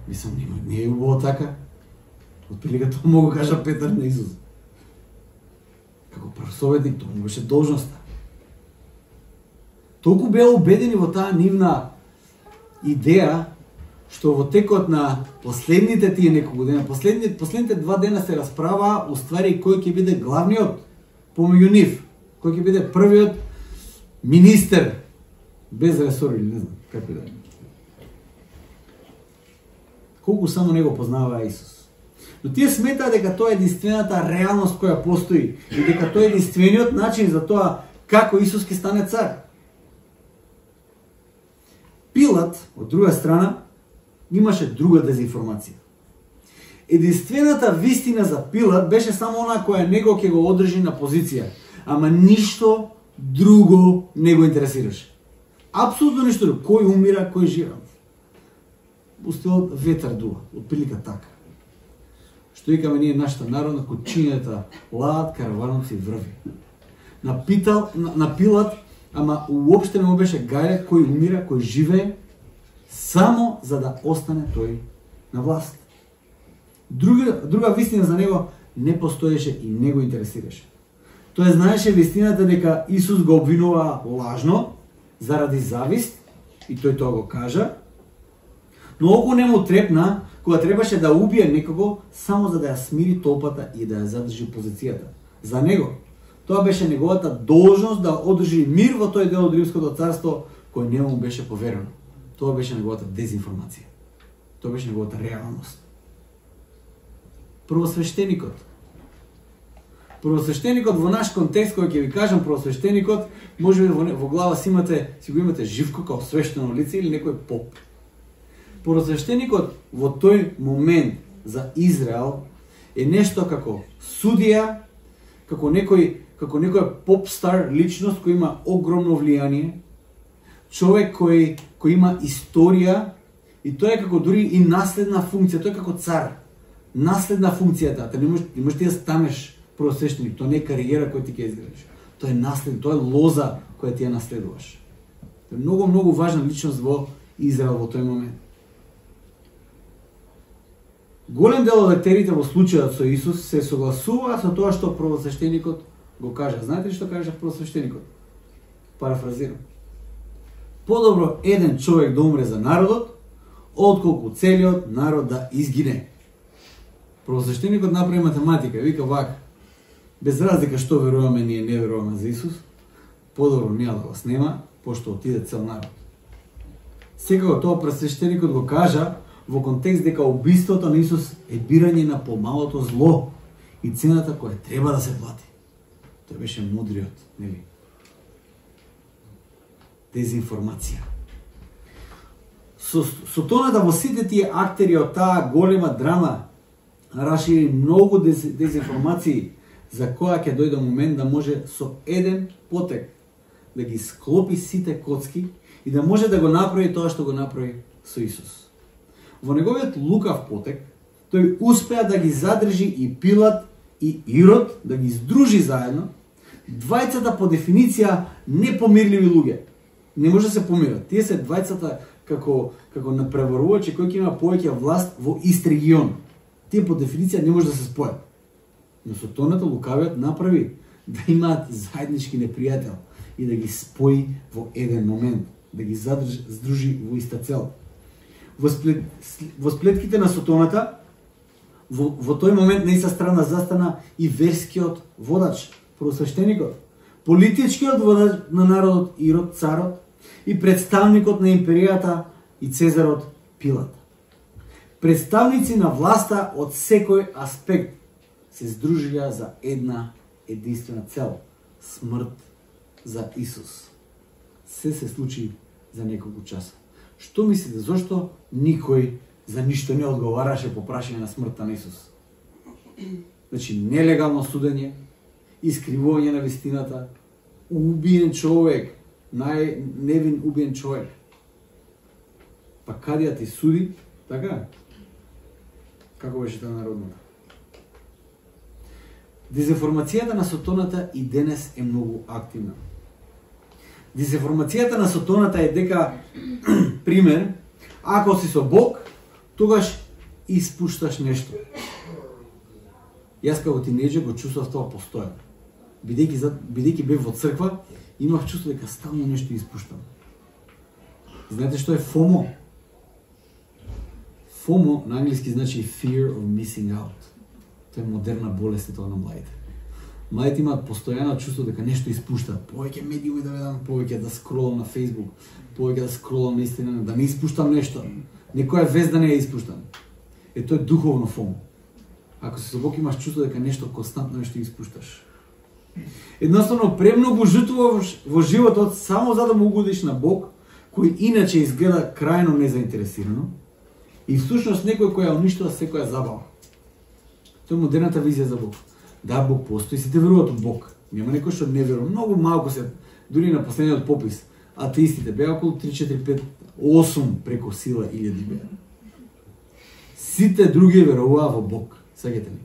Мислам, не е убаво така." Отприлика тоа могу кажа Петар на Исус. Како прв советник, тоа му беше должноста. Толку беа убедени во таа нивна идеја, што во текот на последните тие неколку дена, последните 2 дена се расправа уствари кој ќе биде главниот помеѓу нив, кој ќе биде првиот министер без ресор или не знам како да е. Колку само него познава Исус. Но тие сметаат дека тоа е единствената реалност која постои и дека тоа е единствениот начин за тоа како Исус ќе стане цар. Пилат, од друга страна, имаше друга дезинформација. Единствената вистина за Пилат беше само она која него ќе го одржи на позиција, ама ништо друго не го интересираше. Апсолутно ништо друго. Кој умира, кој жива. Устилот ветар дува, отприлика така. Што викаме ние нашата народна, кучињата лаат, караваноци врви. На Пилат, ама уопште не му беше гајле кој умира, кој живее, само за да остане тој на власт. Друга вистина за него не постоеше и не го интересираше. Тој знаеше вистината дека Исус го обвинува лажно, заради завист, и тој тоа го кажа, но око не му трепна кога требаше да убие некого само за да ја смири толпата и да ја задржи позицијата. За него, тоа беше неговата должност да одржи мир во тој дел од Римското царство кој не му беше поверено. Тоа беше неговата дезинформација. Тоа беше неговата реалност. Првосвештеникот во наш контекст, кој ќе ви кажам првосвештеникот, може би во глава си го имате Живко као свештено лице или некој поп. Првосвештеникот во тој момент за Израел е нешто како судија, како некој поп-стар личност кој има огромно влијание, човек кој има историја и тој е како дури и наследна функција, тој е како цар. Наследна функцијата, не можеш ти да станеш првосвештеник, тоа не е кариера која ти ќе изградиш. Тоа е наслед, тоа е лоза која ти ја наследуваш. Тоа е многу важна личност во Израел во тој момент. Голем дел од лектерите во случајот со Исус се согласуваат со тоа што првосвештеникот го кажа. Знаете ли што кажа првосвештеникот? Парафразирам. Подобро еден човек да умре за народот, отколку целиот народ да изгине. Првосвештеникот направи математика, вика вака: без разлика што веруваме, ние не веруваме за Исус, подобро ние да го снема, пошто отиде цел народ. Секако тоа првосвештеникот го кажа во контекст дека убиството на Исус е бирање на помалото зло и цената која треба да се плати. Тој беше мудриот, нели? Дезинформација. Сотоната во сите тие актери од таа голема драма расшири многу дезинформации за која ќе дојде момент да може со еден потек да ги склопи сите коцки и да може да го направи тоа што го направи со Исус. Во неговиот лукав потек, тој успеа да ги задржи и Пилат и Ирод, да ги здружи заедно, двајцата по дефиниција непомирливи луѓе. Не може да се помират. Тие се двајцата како напреварувачи кои ќе има повеќе власт во ист регион. Тие по дефиниција не може да се спојат. Но Сотоната лукавиот направи да имаат заеднички непријател и да ги спои во еден момент, да ги здружи во иста цел. Во сплетките на Сотоната во тој момент на иста страна застана и верскиот водач, првосвештеникот, политичкиот водач на народот Ирод царот и представникот на империјата и Цезарот Пилат. Представници на власта од секој аспект се здружија за една единствена цел – смрт за Исус. Се случи за неколку часа. Што мислите, зошто никој за ништо не одговараше по прашање на смртта на Исус? Значи, нелегално судење, искривување на вистината, убиен човек, најневин убиен човек. Па кадија ти суди, така? Како беше таа народната? Дезинформацијата на Сотоната и денес е многу активна. Дезинформацијата на Сотоната е дека, пример, ако си со Бог, тогаш испушташ нешто. Јас како тинеџер го чувствував тоа постојано. Бидејќи бев во црква, имав чувство дека стално нешто испуштам. Знаете што е FOMO? FOMO на англиски значи Fear of Missing Out. Тоа е модерна болест тоа на младите. Младите имаат постојано чувство дека нешто испуштаат. Повеќе медиуми да ведам, повеќе да скролам на Facebook, повеќе да скролам на Instagram, да не испуштам нешто. Некоја вест да не ја испуштам. Тоа е духовно FOMO. Ако си со Бог имаш чувство дека нешто константно нешто испушташ. Едноставно премногу жртвуваш во животот само за да му угодиш на Бог, кој иначе изгледа крајно незаинтересирано и всушност некој кој ја уништува секоја забава. Тоа е модерната визија за Бог. Да, Бог постои, сите веруваат од Бог. Нема некој што не верува. Многу малку се, дури на последниот попис, атеистите беа околу 3, 4, 5, 8 преку сила 1000 беа. Сите други веруваа во Бог. Сеќате ли?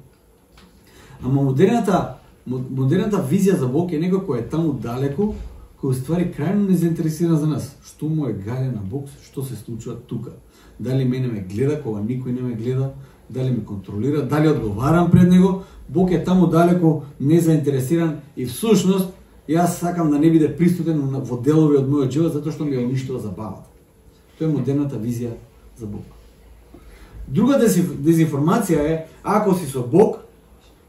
Ама модерната визија за Бог е некој кој е таму далеку, кој уствари крајно незаинтересиран за нас. Што му е гале на Бог, што се случува тука? Дали мене ме гледа кога никој не ме гледа? Дали ме контролира? Дали одговарам пред него? Бог е таму далеку, незаинтересиран и всушност јас сакам да не биде присутен во делови од мојот живот затоа што ми ја уништува забавата. Тоа е модерната визија за Бог. Друга дезинформација е, ако си со Бог,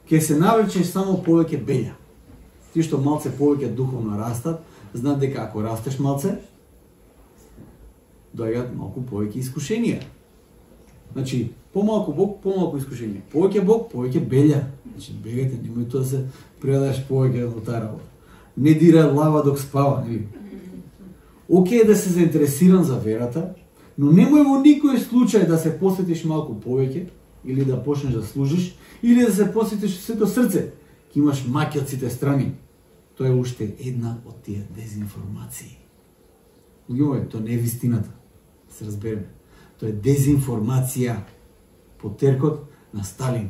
ќе се навлечеш само повеќе бења. Ти што малце повеќе духовно растат, знаат дека ако растеш малце, доаѓаат малку повеќе искушенија. Значи, помалку Бог, помалку искушенија. Повеќе Бог, повеќе беља. Значи, бегајте, немој тоа да се предадеш повеќе во таа работа. Не дира лава док спава, нели? Океј да се заинтересиран за верата, но немој во никој случај да се посветиш малку повеќе, или да почнеш да служиш, или да се посветиш сето срце. Ке имаш маки од сите страни. Тоа е уште една од тие дезинформации. Луѓе, тоа не е вистината. Се разбереме. Тоа е дезинформација. Потеркот на Сталин.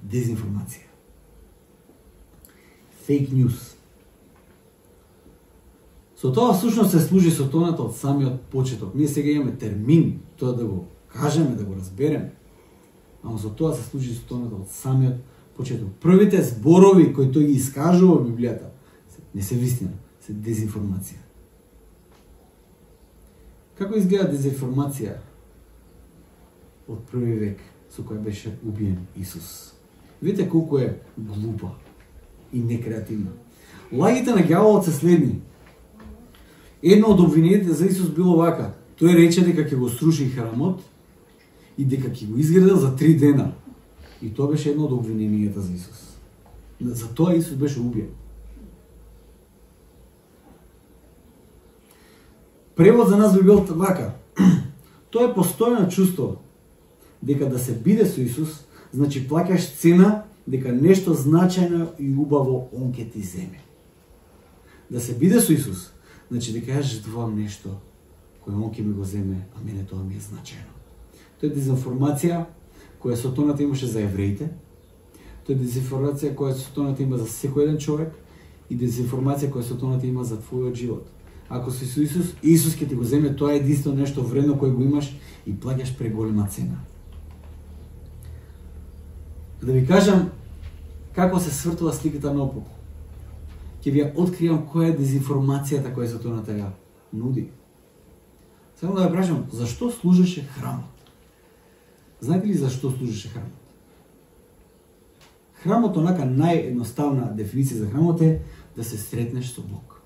Дезинформација. Фейк ньюс. Со тоа всушност се служи Сотоната од самиот почеток. Ние сега имаме термин, тоа да го кажеме, да го разбереме. Ама со тоа се служи Сотоната од самиот почеток. Првите зборови кои тој ги искажува во Библијата не се вистина, се дезинформација. Како изгледа дезинформација од први век со која беше убиен Исус? Видите колку е глупа и некреативна. Лагите на ѓаволот се следни. Едно од обвинените за Исус било вака. Тој рече дека ќе го сруши храмот и дека ќе го изградил за 3 дена. И тоа беше едно од обвиненијата за Исус. За тоа Исус беше убиен. Превод за нас би бил вака. Тоа е постојано чувство дека да се биде со Исус, значи плаќаш цена дека нешто значајно и убаво он ќе ти земе. Да се биде со Исус, значи дека јас жртвувам нешто кој он ќе ми го земе, а мене тоа ми е значајно. Тоа е дезинформација која Сотоната имаше за евреите. Тоа е дезинформација која Сотоната има за секој еден човек и дезинформација која Сотоната има за твојот живот. Ако си со Исус, Исус ќе ти го земе, тоа е единствено нешто вредно кој го имаш и плаќаш преголема цена. Да ви кажам како се свртува сликата наопаку. Ќе ви ја откријам која е дезинформацијата која Сотоната ја нуди. Само да ја прашам, зашто служеше храмот? Знаете ли зашто служеше храмот? Храмот, онака наједноставна дефиниција за храмот е да се сретнеш со Бог.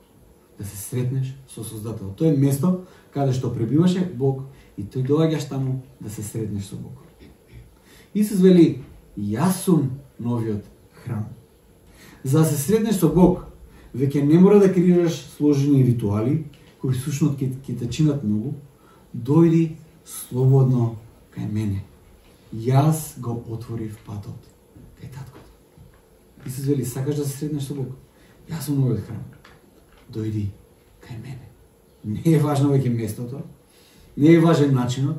Да се сретнеш со Создател. Тоа е место каде што пребиваше Бог и тој доаѓаш таму да се сретнеш со Бог. Исус вели, јас сум новиот храм. За да се сретнеш со Бог, веќе не мора да креираш сложени ритуали, кои сушност ќе те чинат многу, дојди слободно кај мене. Јас го отворив патот кај таткото. Исус вели, сакаш да се сретнеш со Бог? Јас сум новиот храм. Дојди кај мене. Не е важно веќе местото, не е важен начинот,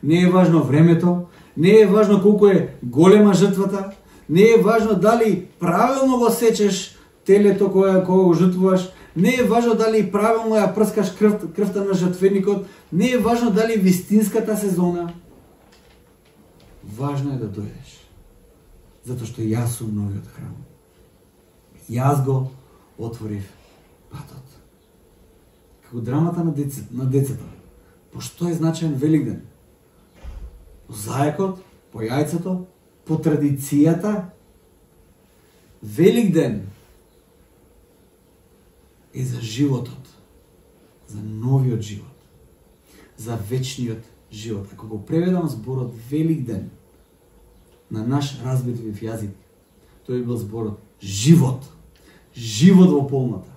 не е важно времето, не е важно колку е голема жртвата, не е важно дали правилно го сечеш телето кога го жртвуваш, не е важно дали правилно ја прскаш крвта на жртвеникот, не е важно дали вистинската сезона. Важно е да дојдеш. Затоа што јас сум новиот храм. Јас го отворив патот. Како драмата на децата. По што е значаен Великден? По зајакот, по јајцето, по традицијата. Великден е за животот, за новиот живот, за вечниот живот. Ако го преведам зборот Великден на наш разбитлив јазик, тој бил зборот живот. Живот во полнота.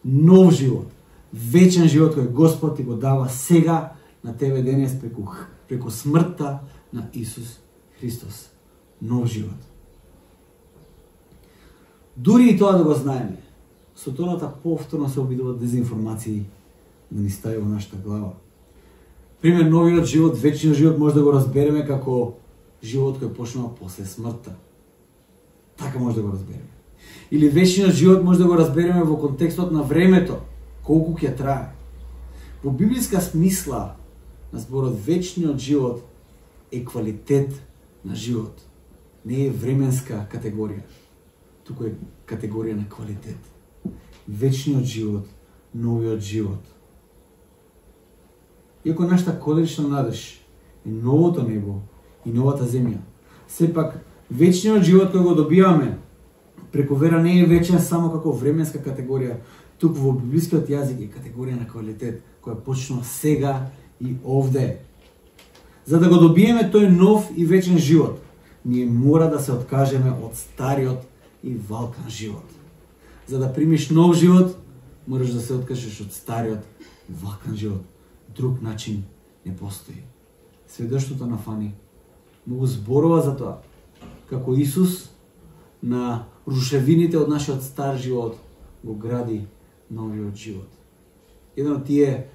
Нов живот. Вечен живот кој Господ ти го дава сега на тебе денес преку смртта на Исус Христос. Нов живот. Дури и тоа да го знаеме, сотоната повторно се обидува дезинформации да ни стави во нашата глава. Пример, новиот живот, вечниот живот може да го разбереме како живот кој почнува после смртта. Така може да го разбереме. Или вечниот живот може да го разбереме во контекстот на времето, колку ќе трае. Во библиска смисла на зборот вечниот живот е квалитет на живот. Не е временска категорија, туку е категорија на квалитет. Вечниот живот, новиот живот. Иако нашата колечна надеж е новото небо и новата земја, сепак вечниот живот кој го добиваме преку вера не е вечен само како временска категорија, туку во библискиот јазик е категорија на квалитет која почнува сега и овде. За да го добиеме тој нов и вечен живот, ние мора да се откажеме од стариот и валкан живот. За да примиш нов живот, мораш да се откажеш од стариот и валкан живот. Друг начин не постои. Сведоштвото на Фани многу зборува за тоа, како Исус на рушевините од нашиот стар живот го гради новиот живот. Еден од тие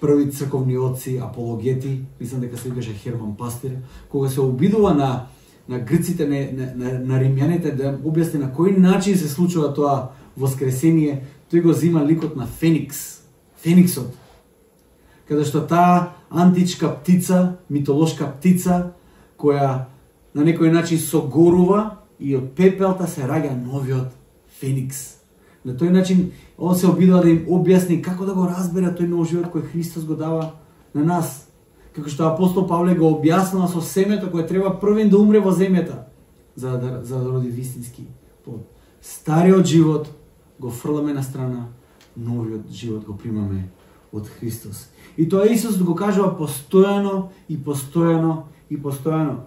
први црковни отци, апологети, мислам дека се викаше Херман Пастир, кога се обидува на грците, на римјаните да објасни на кој начин се случува тоа воскресение, тој го зима ликот на Феникс, Фениксот, каде што таа античка птица, митолошка птица, која на некој начин согорува и од пепелта се раѓа новиот Феникс. На тој начин он се обидува да им објасни како да го разбере тој нов живот кој Христос го дава на нас. Како што апостол Павле го објаснува со семето кое треба првен да умре во земјата за да роди вистински плод. Стариот живот го фрламе на страна, новиот живот го примаме од Христос. И тоа Исус го кажува постојано и постојано и постојано.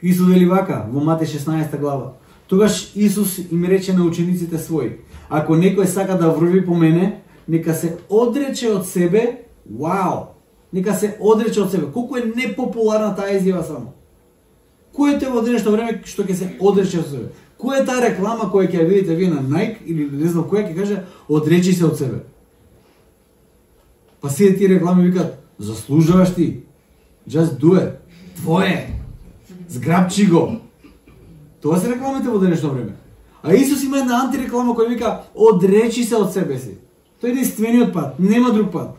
Исус вели вака во Матеј 16 глава. Тогаш Исус им рече на учениците своји: ако некој сака да врви по мене, нека се одрече од себе. Вау! Нека се одрече од себе. Колку е непопуларна таа изјава само. Кој е тој во денешно време што ќе се одрече од себе? Која е таа реклама која ќе ја видите вие на Nike или не знам која ќе каже одречи се од себе? Па сите тие реклами викаат заслужуваш ти. Just do it. Твое. Зграбчи го. Тоа се рекламите во денешно време. А Исус има една антиреклама која вика одречи се од себе си. Тој е единствениот пат, нема друг пат.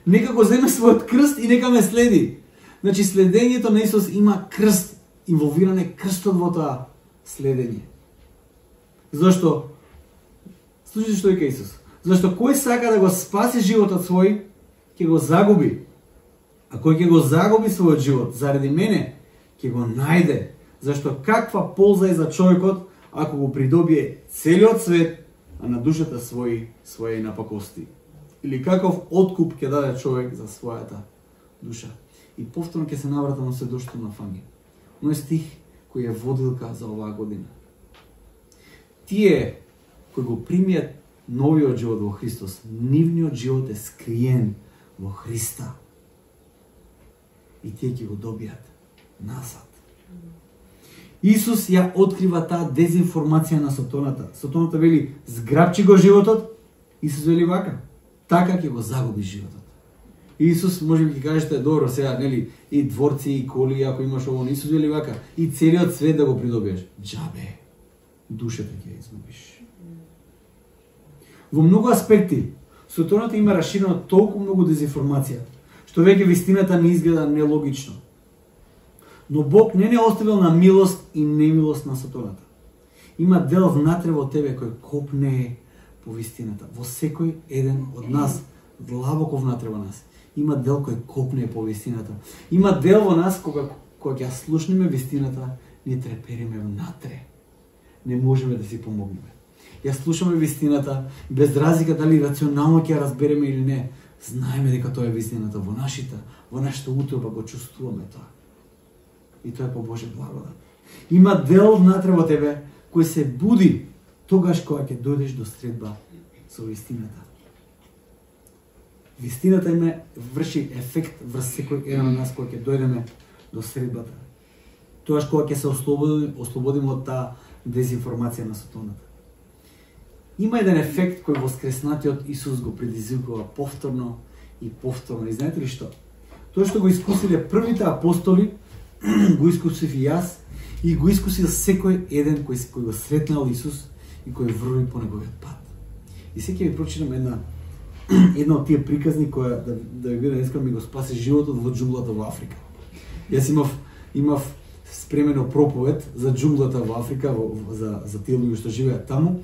Нека го земе својот крст и нека ме следи. Значи следењето на Исус има крст, инволвиран е крстот во тоа следење. Зошто? Слушайте што вика Исус. Зашто кој сака да го спаси животот свој, ќе го загуби. А кој ќе го загуби својот живот заради мене, ќе го најде. Зашто каква полза е за човекот ако го придобие целиот свет, а на душата своји напакости? Или каков откуп ќе даде човек за својата душа? И повторно ќе се навратам на сведоштво на Фанги. Оној стих кој е водилка за оваа година. Тие кои го примијат новиот живот во Христос, нивниот живот е скриен во Христа. И тие ќе го добијат назад. Исус ја открива таа дезинформација на Сатоната. Сатоната вели, зграбчи го животот, Исус вели вака, така ќе го загуби животот. Исус, може би ќе кажете, добро, сега, нели, и дворци, и коли, ако имаш ово, Исус вели вака, и целиот свет да го придобиеш. Џабе, душата ќе ја изгубиш. Во многу аспекти, Сатоната има расширено толку многу дезинформација, што веќе вистината не изгледа нелогично. Но Бог не оставил на милост и немилост на Сатоната. Има дел внатре во тебе кој копне по вистината. Во секој еден од нас, длабоко внатре во нас, има дел кој копне по вистината. Има дел во нас кога ќе слушнеме вистината, ни трепериме внатре. Не можеме да си помогнеме. Ја слушаме вистината, без разлика дали рационално ќе ја разбереме или не, знаеме дека тоа е вистината во нашата утроба го чувствуваме тоа. И тоа е по Божја благодат. Има дел внатре во тебе кој се буди тогаш кога ќе дојдеш до средба со вистината. Вистината има врши ефект врз секој еден од нас кога ќе дојдеме до средбата. Тогаш кога ќе се ослободиме од таа дезинформација на Сатоната. Има еден ефект кој воскреснатиот Исус го предизвикува повторно и повторно. И знаете ли што? Тоа што го искусиле првите апостоли, го искусив и јас, и го искусил секој еден кој го сретнал Исус и кој врви по неговиот пат. И сега ќе ви прочитам една од тие приказни која да ви биде искрен ми го спаси животот во џунглата во Африка. Јас имав спремено проповед за џунглата во Африка, за тие луѓе што живеат таму.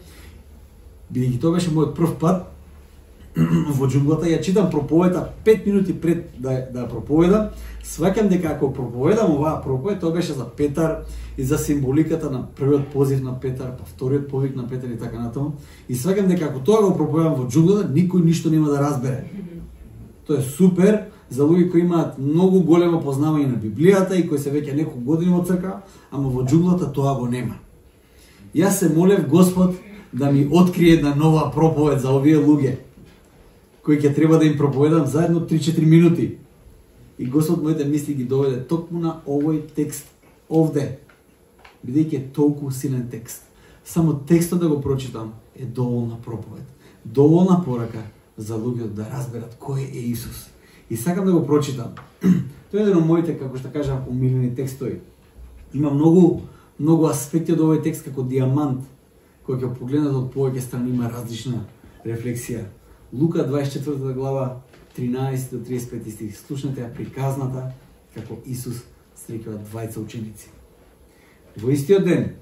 Бидејќи тоа беше мојот прв пат во џунглата, ја читам проповедта 5 минути пред да ја проповедам. Сваќам дека ако проповедам оваа проповед, тоа беше за Петар и за символиката на првиот позив на Петар, па вториот повик на Петар и така натаму. И сваќам дека ако тоа го проповедам во џунглата, никој ништо нема да разбере. Тоа е супер за луѓе кои имаат многу големо познавање на Библијата и кои се веќе неколку години во црква, ама во џунглата тоа го нема. Јас се молев Господ да ми открие една нова проповед за овие луѓе, кои ќе треба да им проповедам заедно 3-4 минути. И Господ моите мисли ги доведе токму на овој текст овде, бидејќи е толку силен текст. Само текстот да го прочитам е доволна проповед, доволна порака за луѓето да разберат кој е Исус. И сакам да го прочитам. Тоа е еден од моите, како што кажам, умилени текстови. Има многу аспекти од овој текст како диамант, кој ќе погледнат од повеќе страни, има различна рефлексија. Лука 24 глава 13 до 35 стих. Слушнете ја приказната како Исус среќува двајца ученици. Во истиот ден,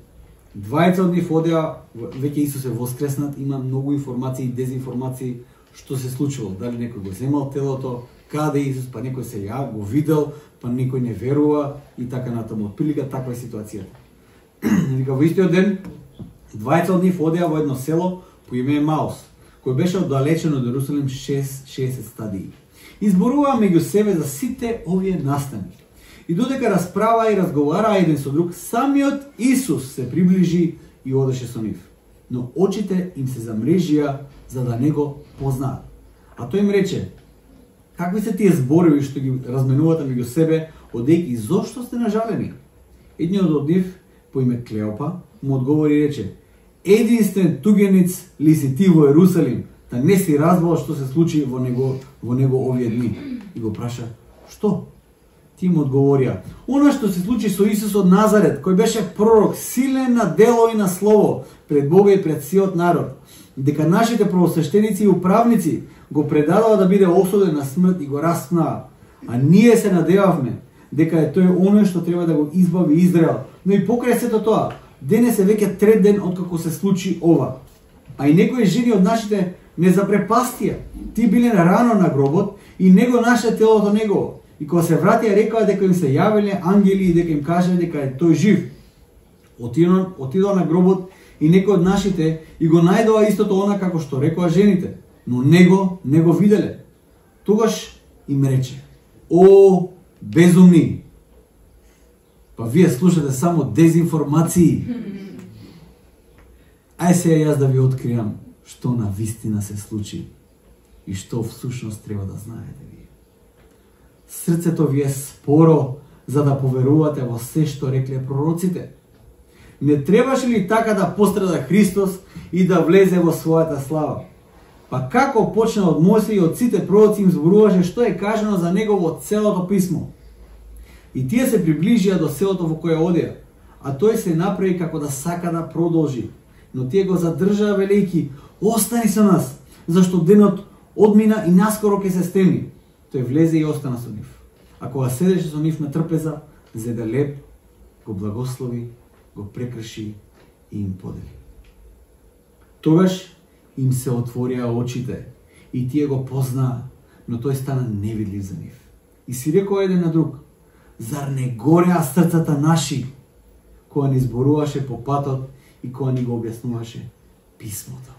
двајца од нив одеа, веќе Исус е воскреснат, има многу информации и дезинформации што се случило. Дали некој го земал телото, каде Исус, па некој се ја го видел, па некој не верува и така натаму. Отприлика таква е ситуацијата. Вика, во истиот ден, двајца од нив одеа во едно село по име Емаус, кој беше оддалечен од Ерусалим 60 стадии. Изборуваа меѓу себе за сите овие настани. И додека расправаа и разговараа еден со друг, самиот Исус се приближи и одеше со нив. Но очите им се замрежија за да не го познаат. А тој им рече: какви се тие зборови што ги разменувате меѓу себе, одејќи зошто сте нажалени? Едниот од нив, по име Клеопа, му одговори и рече: единствен тугениц ли си ти во Ерусалим, да не си разбрал што се случи во него овие дни? И го праша: што? Ти му одговорија: она што се случи со Исус од Назарет, кој беше пророк, силен на дело и на слово пред Бога и пред сиот народ, дека нашите првосвештеници и управници го предадоа да биде осуден на смрт и го распнаа. А ние се надевавме дека е тој оној што треба да го избави Израел. Но и покрај сето тоа, денес е веќе трет ден откако се случи ова. А и некои жени од нашите не запрепастија. Ти биле рано на гробот и него наше телото негово. И кога се вратија рекоа дека им се јавиле ангели и дека им кажале дека е тој жив. Отидоа на гробот и некои од нашите и го најдоа истото она како што рекоа жените, но него не го виделе. Тогаш им рече: "О, безумни! Па вие слушате само дезинформации. Ај сега јас да ви откријам што на вистина се случи и што всушност треба да знаете вие. Срцето ви е споро за да поверувате во се што рекле пророците. Не требаше ли така да пострада Христос и да влезе во својата слава? Па како почна од Мојсија и од сите пророци им зборуваше што е кажано за него во целото писмо. И тие се приближија до селото во кое одеа, а тој се направи како да сака да продолжи. Но тие го задржаа велејки: "Остани со нас, зашто денот одмина и наскоро ќе се стемни." Тој влезе и остана со нив. А кога седеше со нив на трпеза, зеде леб, го благослови, го прекрши и им подели. Тогаш им се отворија очите и тие го познаа, но тој стана невидлив за нив. И си рекоа еден на друг: "Зар не гореа срцата наши кога ни зборуваше по патот и кога ни го објаснуваше писмото?"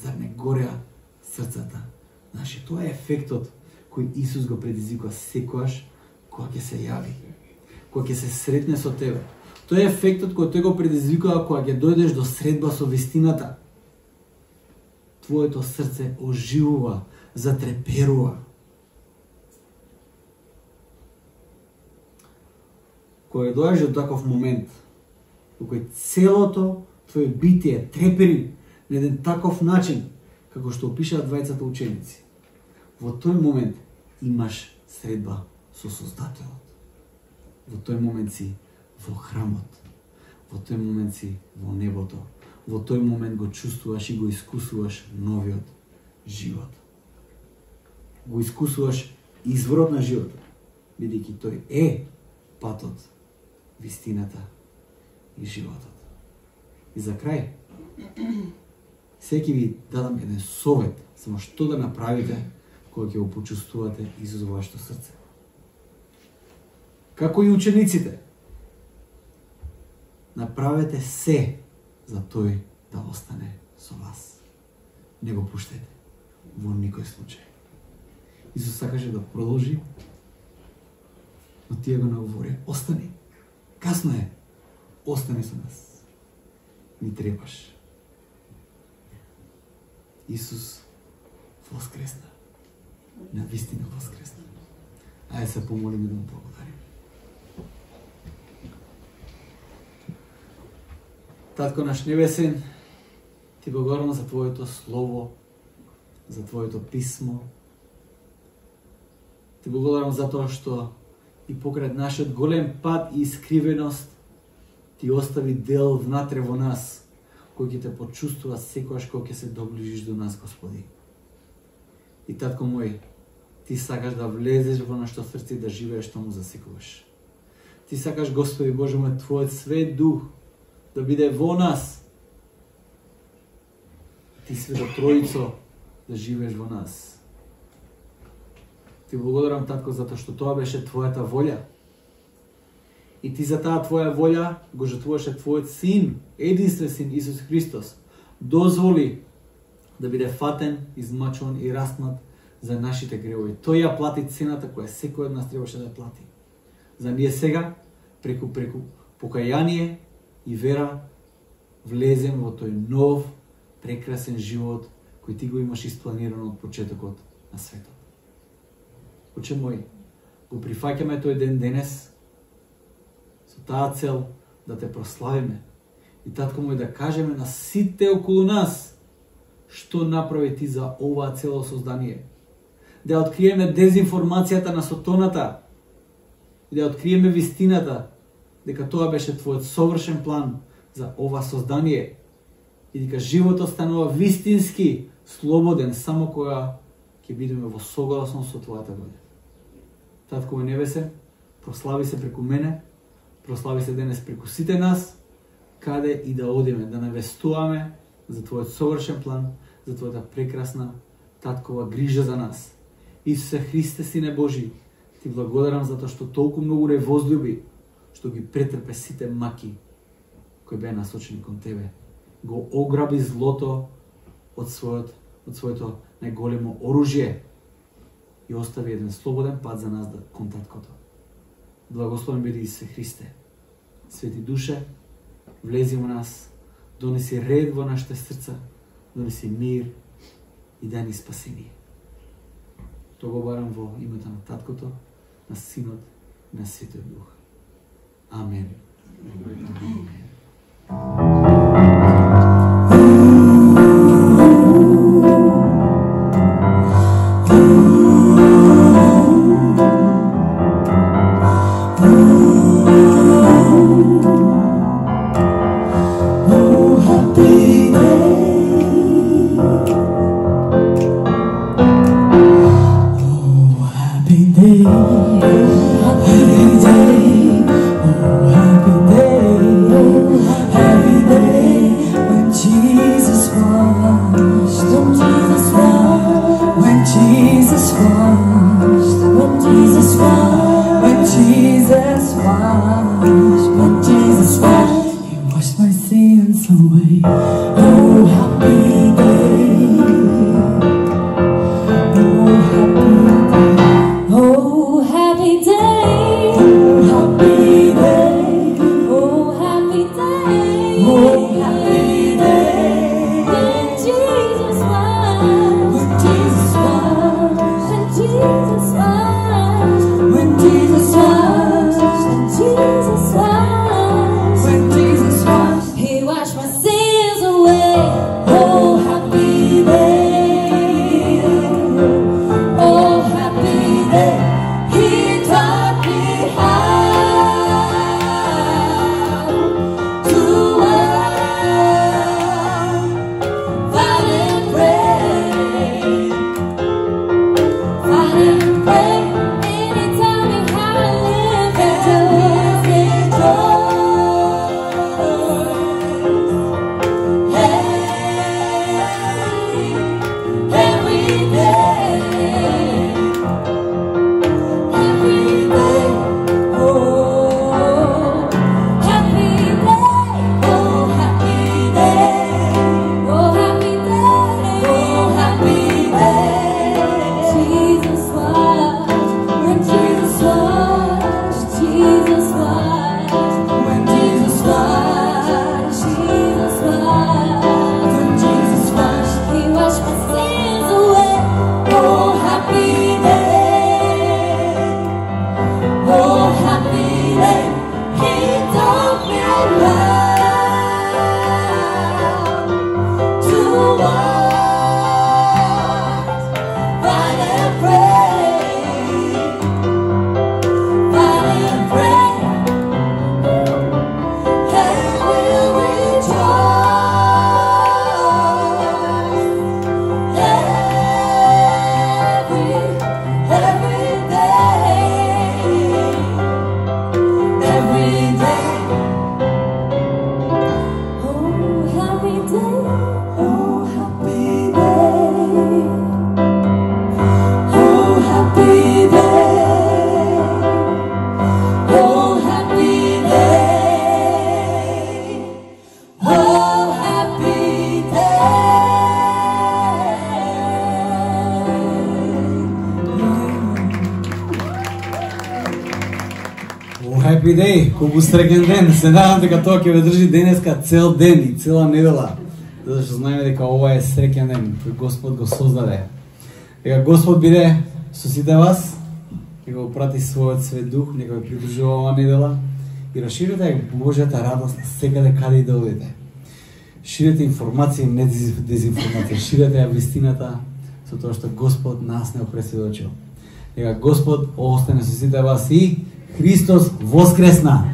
Зар не гореа срцата наши? Тоа е ефектот кој Исус го предизвикува секојаш кога ќе се јави, кога ќе се сретне со тебе. Тоа е ефектот кој тој го предизвикува кога ќе дојдеш до средба со вистината. Твоето срце оживува, затреперува. Кога дојдеш до таков момент, во кој целото твое битие трепери на еден таков начин, како што опишаат двајцата ученици, во тој момент имаш средба со Создателот. Во тој момент си во храмот. Во тој момент си во небото. Во тој момент го чувствуваш и го искусуваш новиот живот. Го искусуваш изворот на животот, бидејќи тој е патот, вистината и животот. И за крај, секи ви дадам еден совет, само што да направите кога ќе го почувствувате Исус во вашето срце. Како и учениците, направете се за тој да остане со вас. Не го пуштете во никој случај. Исус сакаше да продолжи, но тие го наговорија: "Остани, касно е, остани со нас. Ни требаш." Исус воскресна. Навистина воскресна. Ајде се помолиме да му благодариме. Татко наш небесен, ти благодарам за Твоето Слово, за Твоето писмо. Ти благодарам за тоа што и покрај нашиот голем пат и искривеност, ти остави дел внатре во нас, кој ќе те почувствува секојаш кога ќе се доближиш до нас, Господи. И татко мој, ти сакаш да влезеш во нашето срце и да живееш таму за секогаш. Ти сакаш, Господи Боже мој, Твојот свет дух да биде во нас. Ти Свето Троицо да живееш во нас. Ти благодарам, татко, затоа што тоа беше Твојата волја. И ти за таа Твоја волја го жртвуваше Твојот Син, единствен Син Исус Христос. Дозволи да биде фатен, измачуван и распнат за нашите гревови. Тој ја плати цената која секој од нас требаше да плати. За ние сега, преку покаяние и вера, влезем во тој нов, прекрасен живот кој ти го имаш испланирано од почетокот на светот. Оче мој, го прифаќаме тој ден денес со таа цел да те прославиме и, татко мој, да кажеме на сите околу нас што направи ти за оваа цело создание. Да откриеме дезинформацијата на сотоната и да откриеме вистината дека тоа беше Твојот совршен план за ова создание и дека животот станува вистински слободен само кога ќе бидеме во согласност со Твојата волја. Татко мој небесен, прослави се преку мене, прослави се денес преку сите нас, каде и да одиме, да навестуваме за Твојот совршен план, за Твојата прекрасна таткова грижа за нас. Исусе Христе, Сине Божи, Ти благодарам затоа што толку многу не возлюби, што ги претрпе сите маки кои беа насочени кон Тебе. Го ограби злото од своето најголемо оружје и остави еден слободен пат за нас кон Таткото. Благословен биде Исусе Христе. Свети Душе, влези во нас, донеси ред во нашите срца, донеси мир и дај ни спасение. Тоа го барам во името на Таткото, на Синот и на Светиот Дух. Амен. Happy day, колку среќен ден. Се надам дека тоа ќе ве држи денеска цел ден и цела недела. Затоа што знаеме дека ова е среќен ден кој Господ го создаде. Дека Господ биде со сите вас, дека го прати својот свет дух, нека ве придружува оваа недела и расширете Божјата радост секаде каде и да одите. Ширете информација, не дезинформација, ширете ја вистината со тоа што Господ нас не опресведочил. Дека Господ остане со сите вас и Христос воскресна!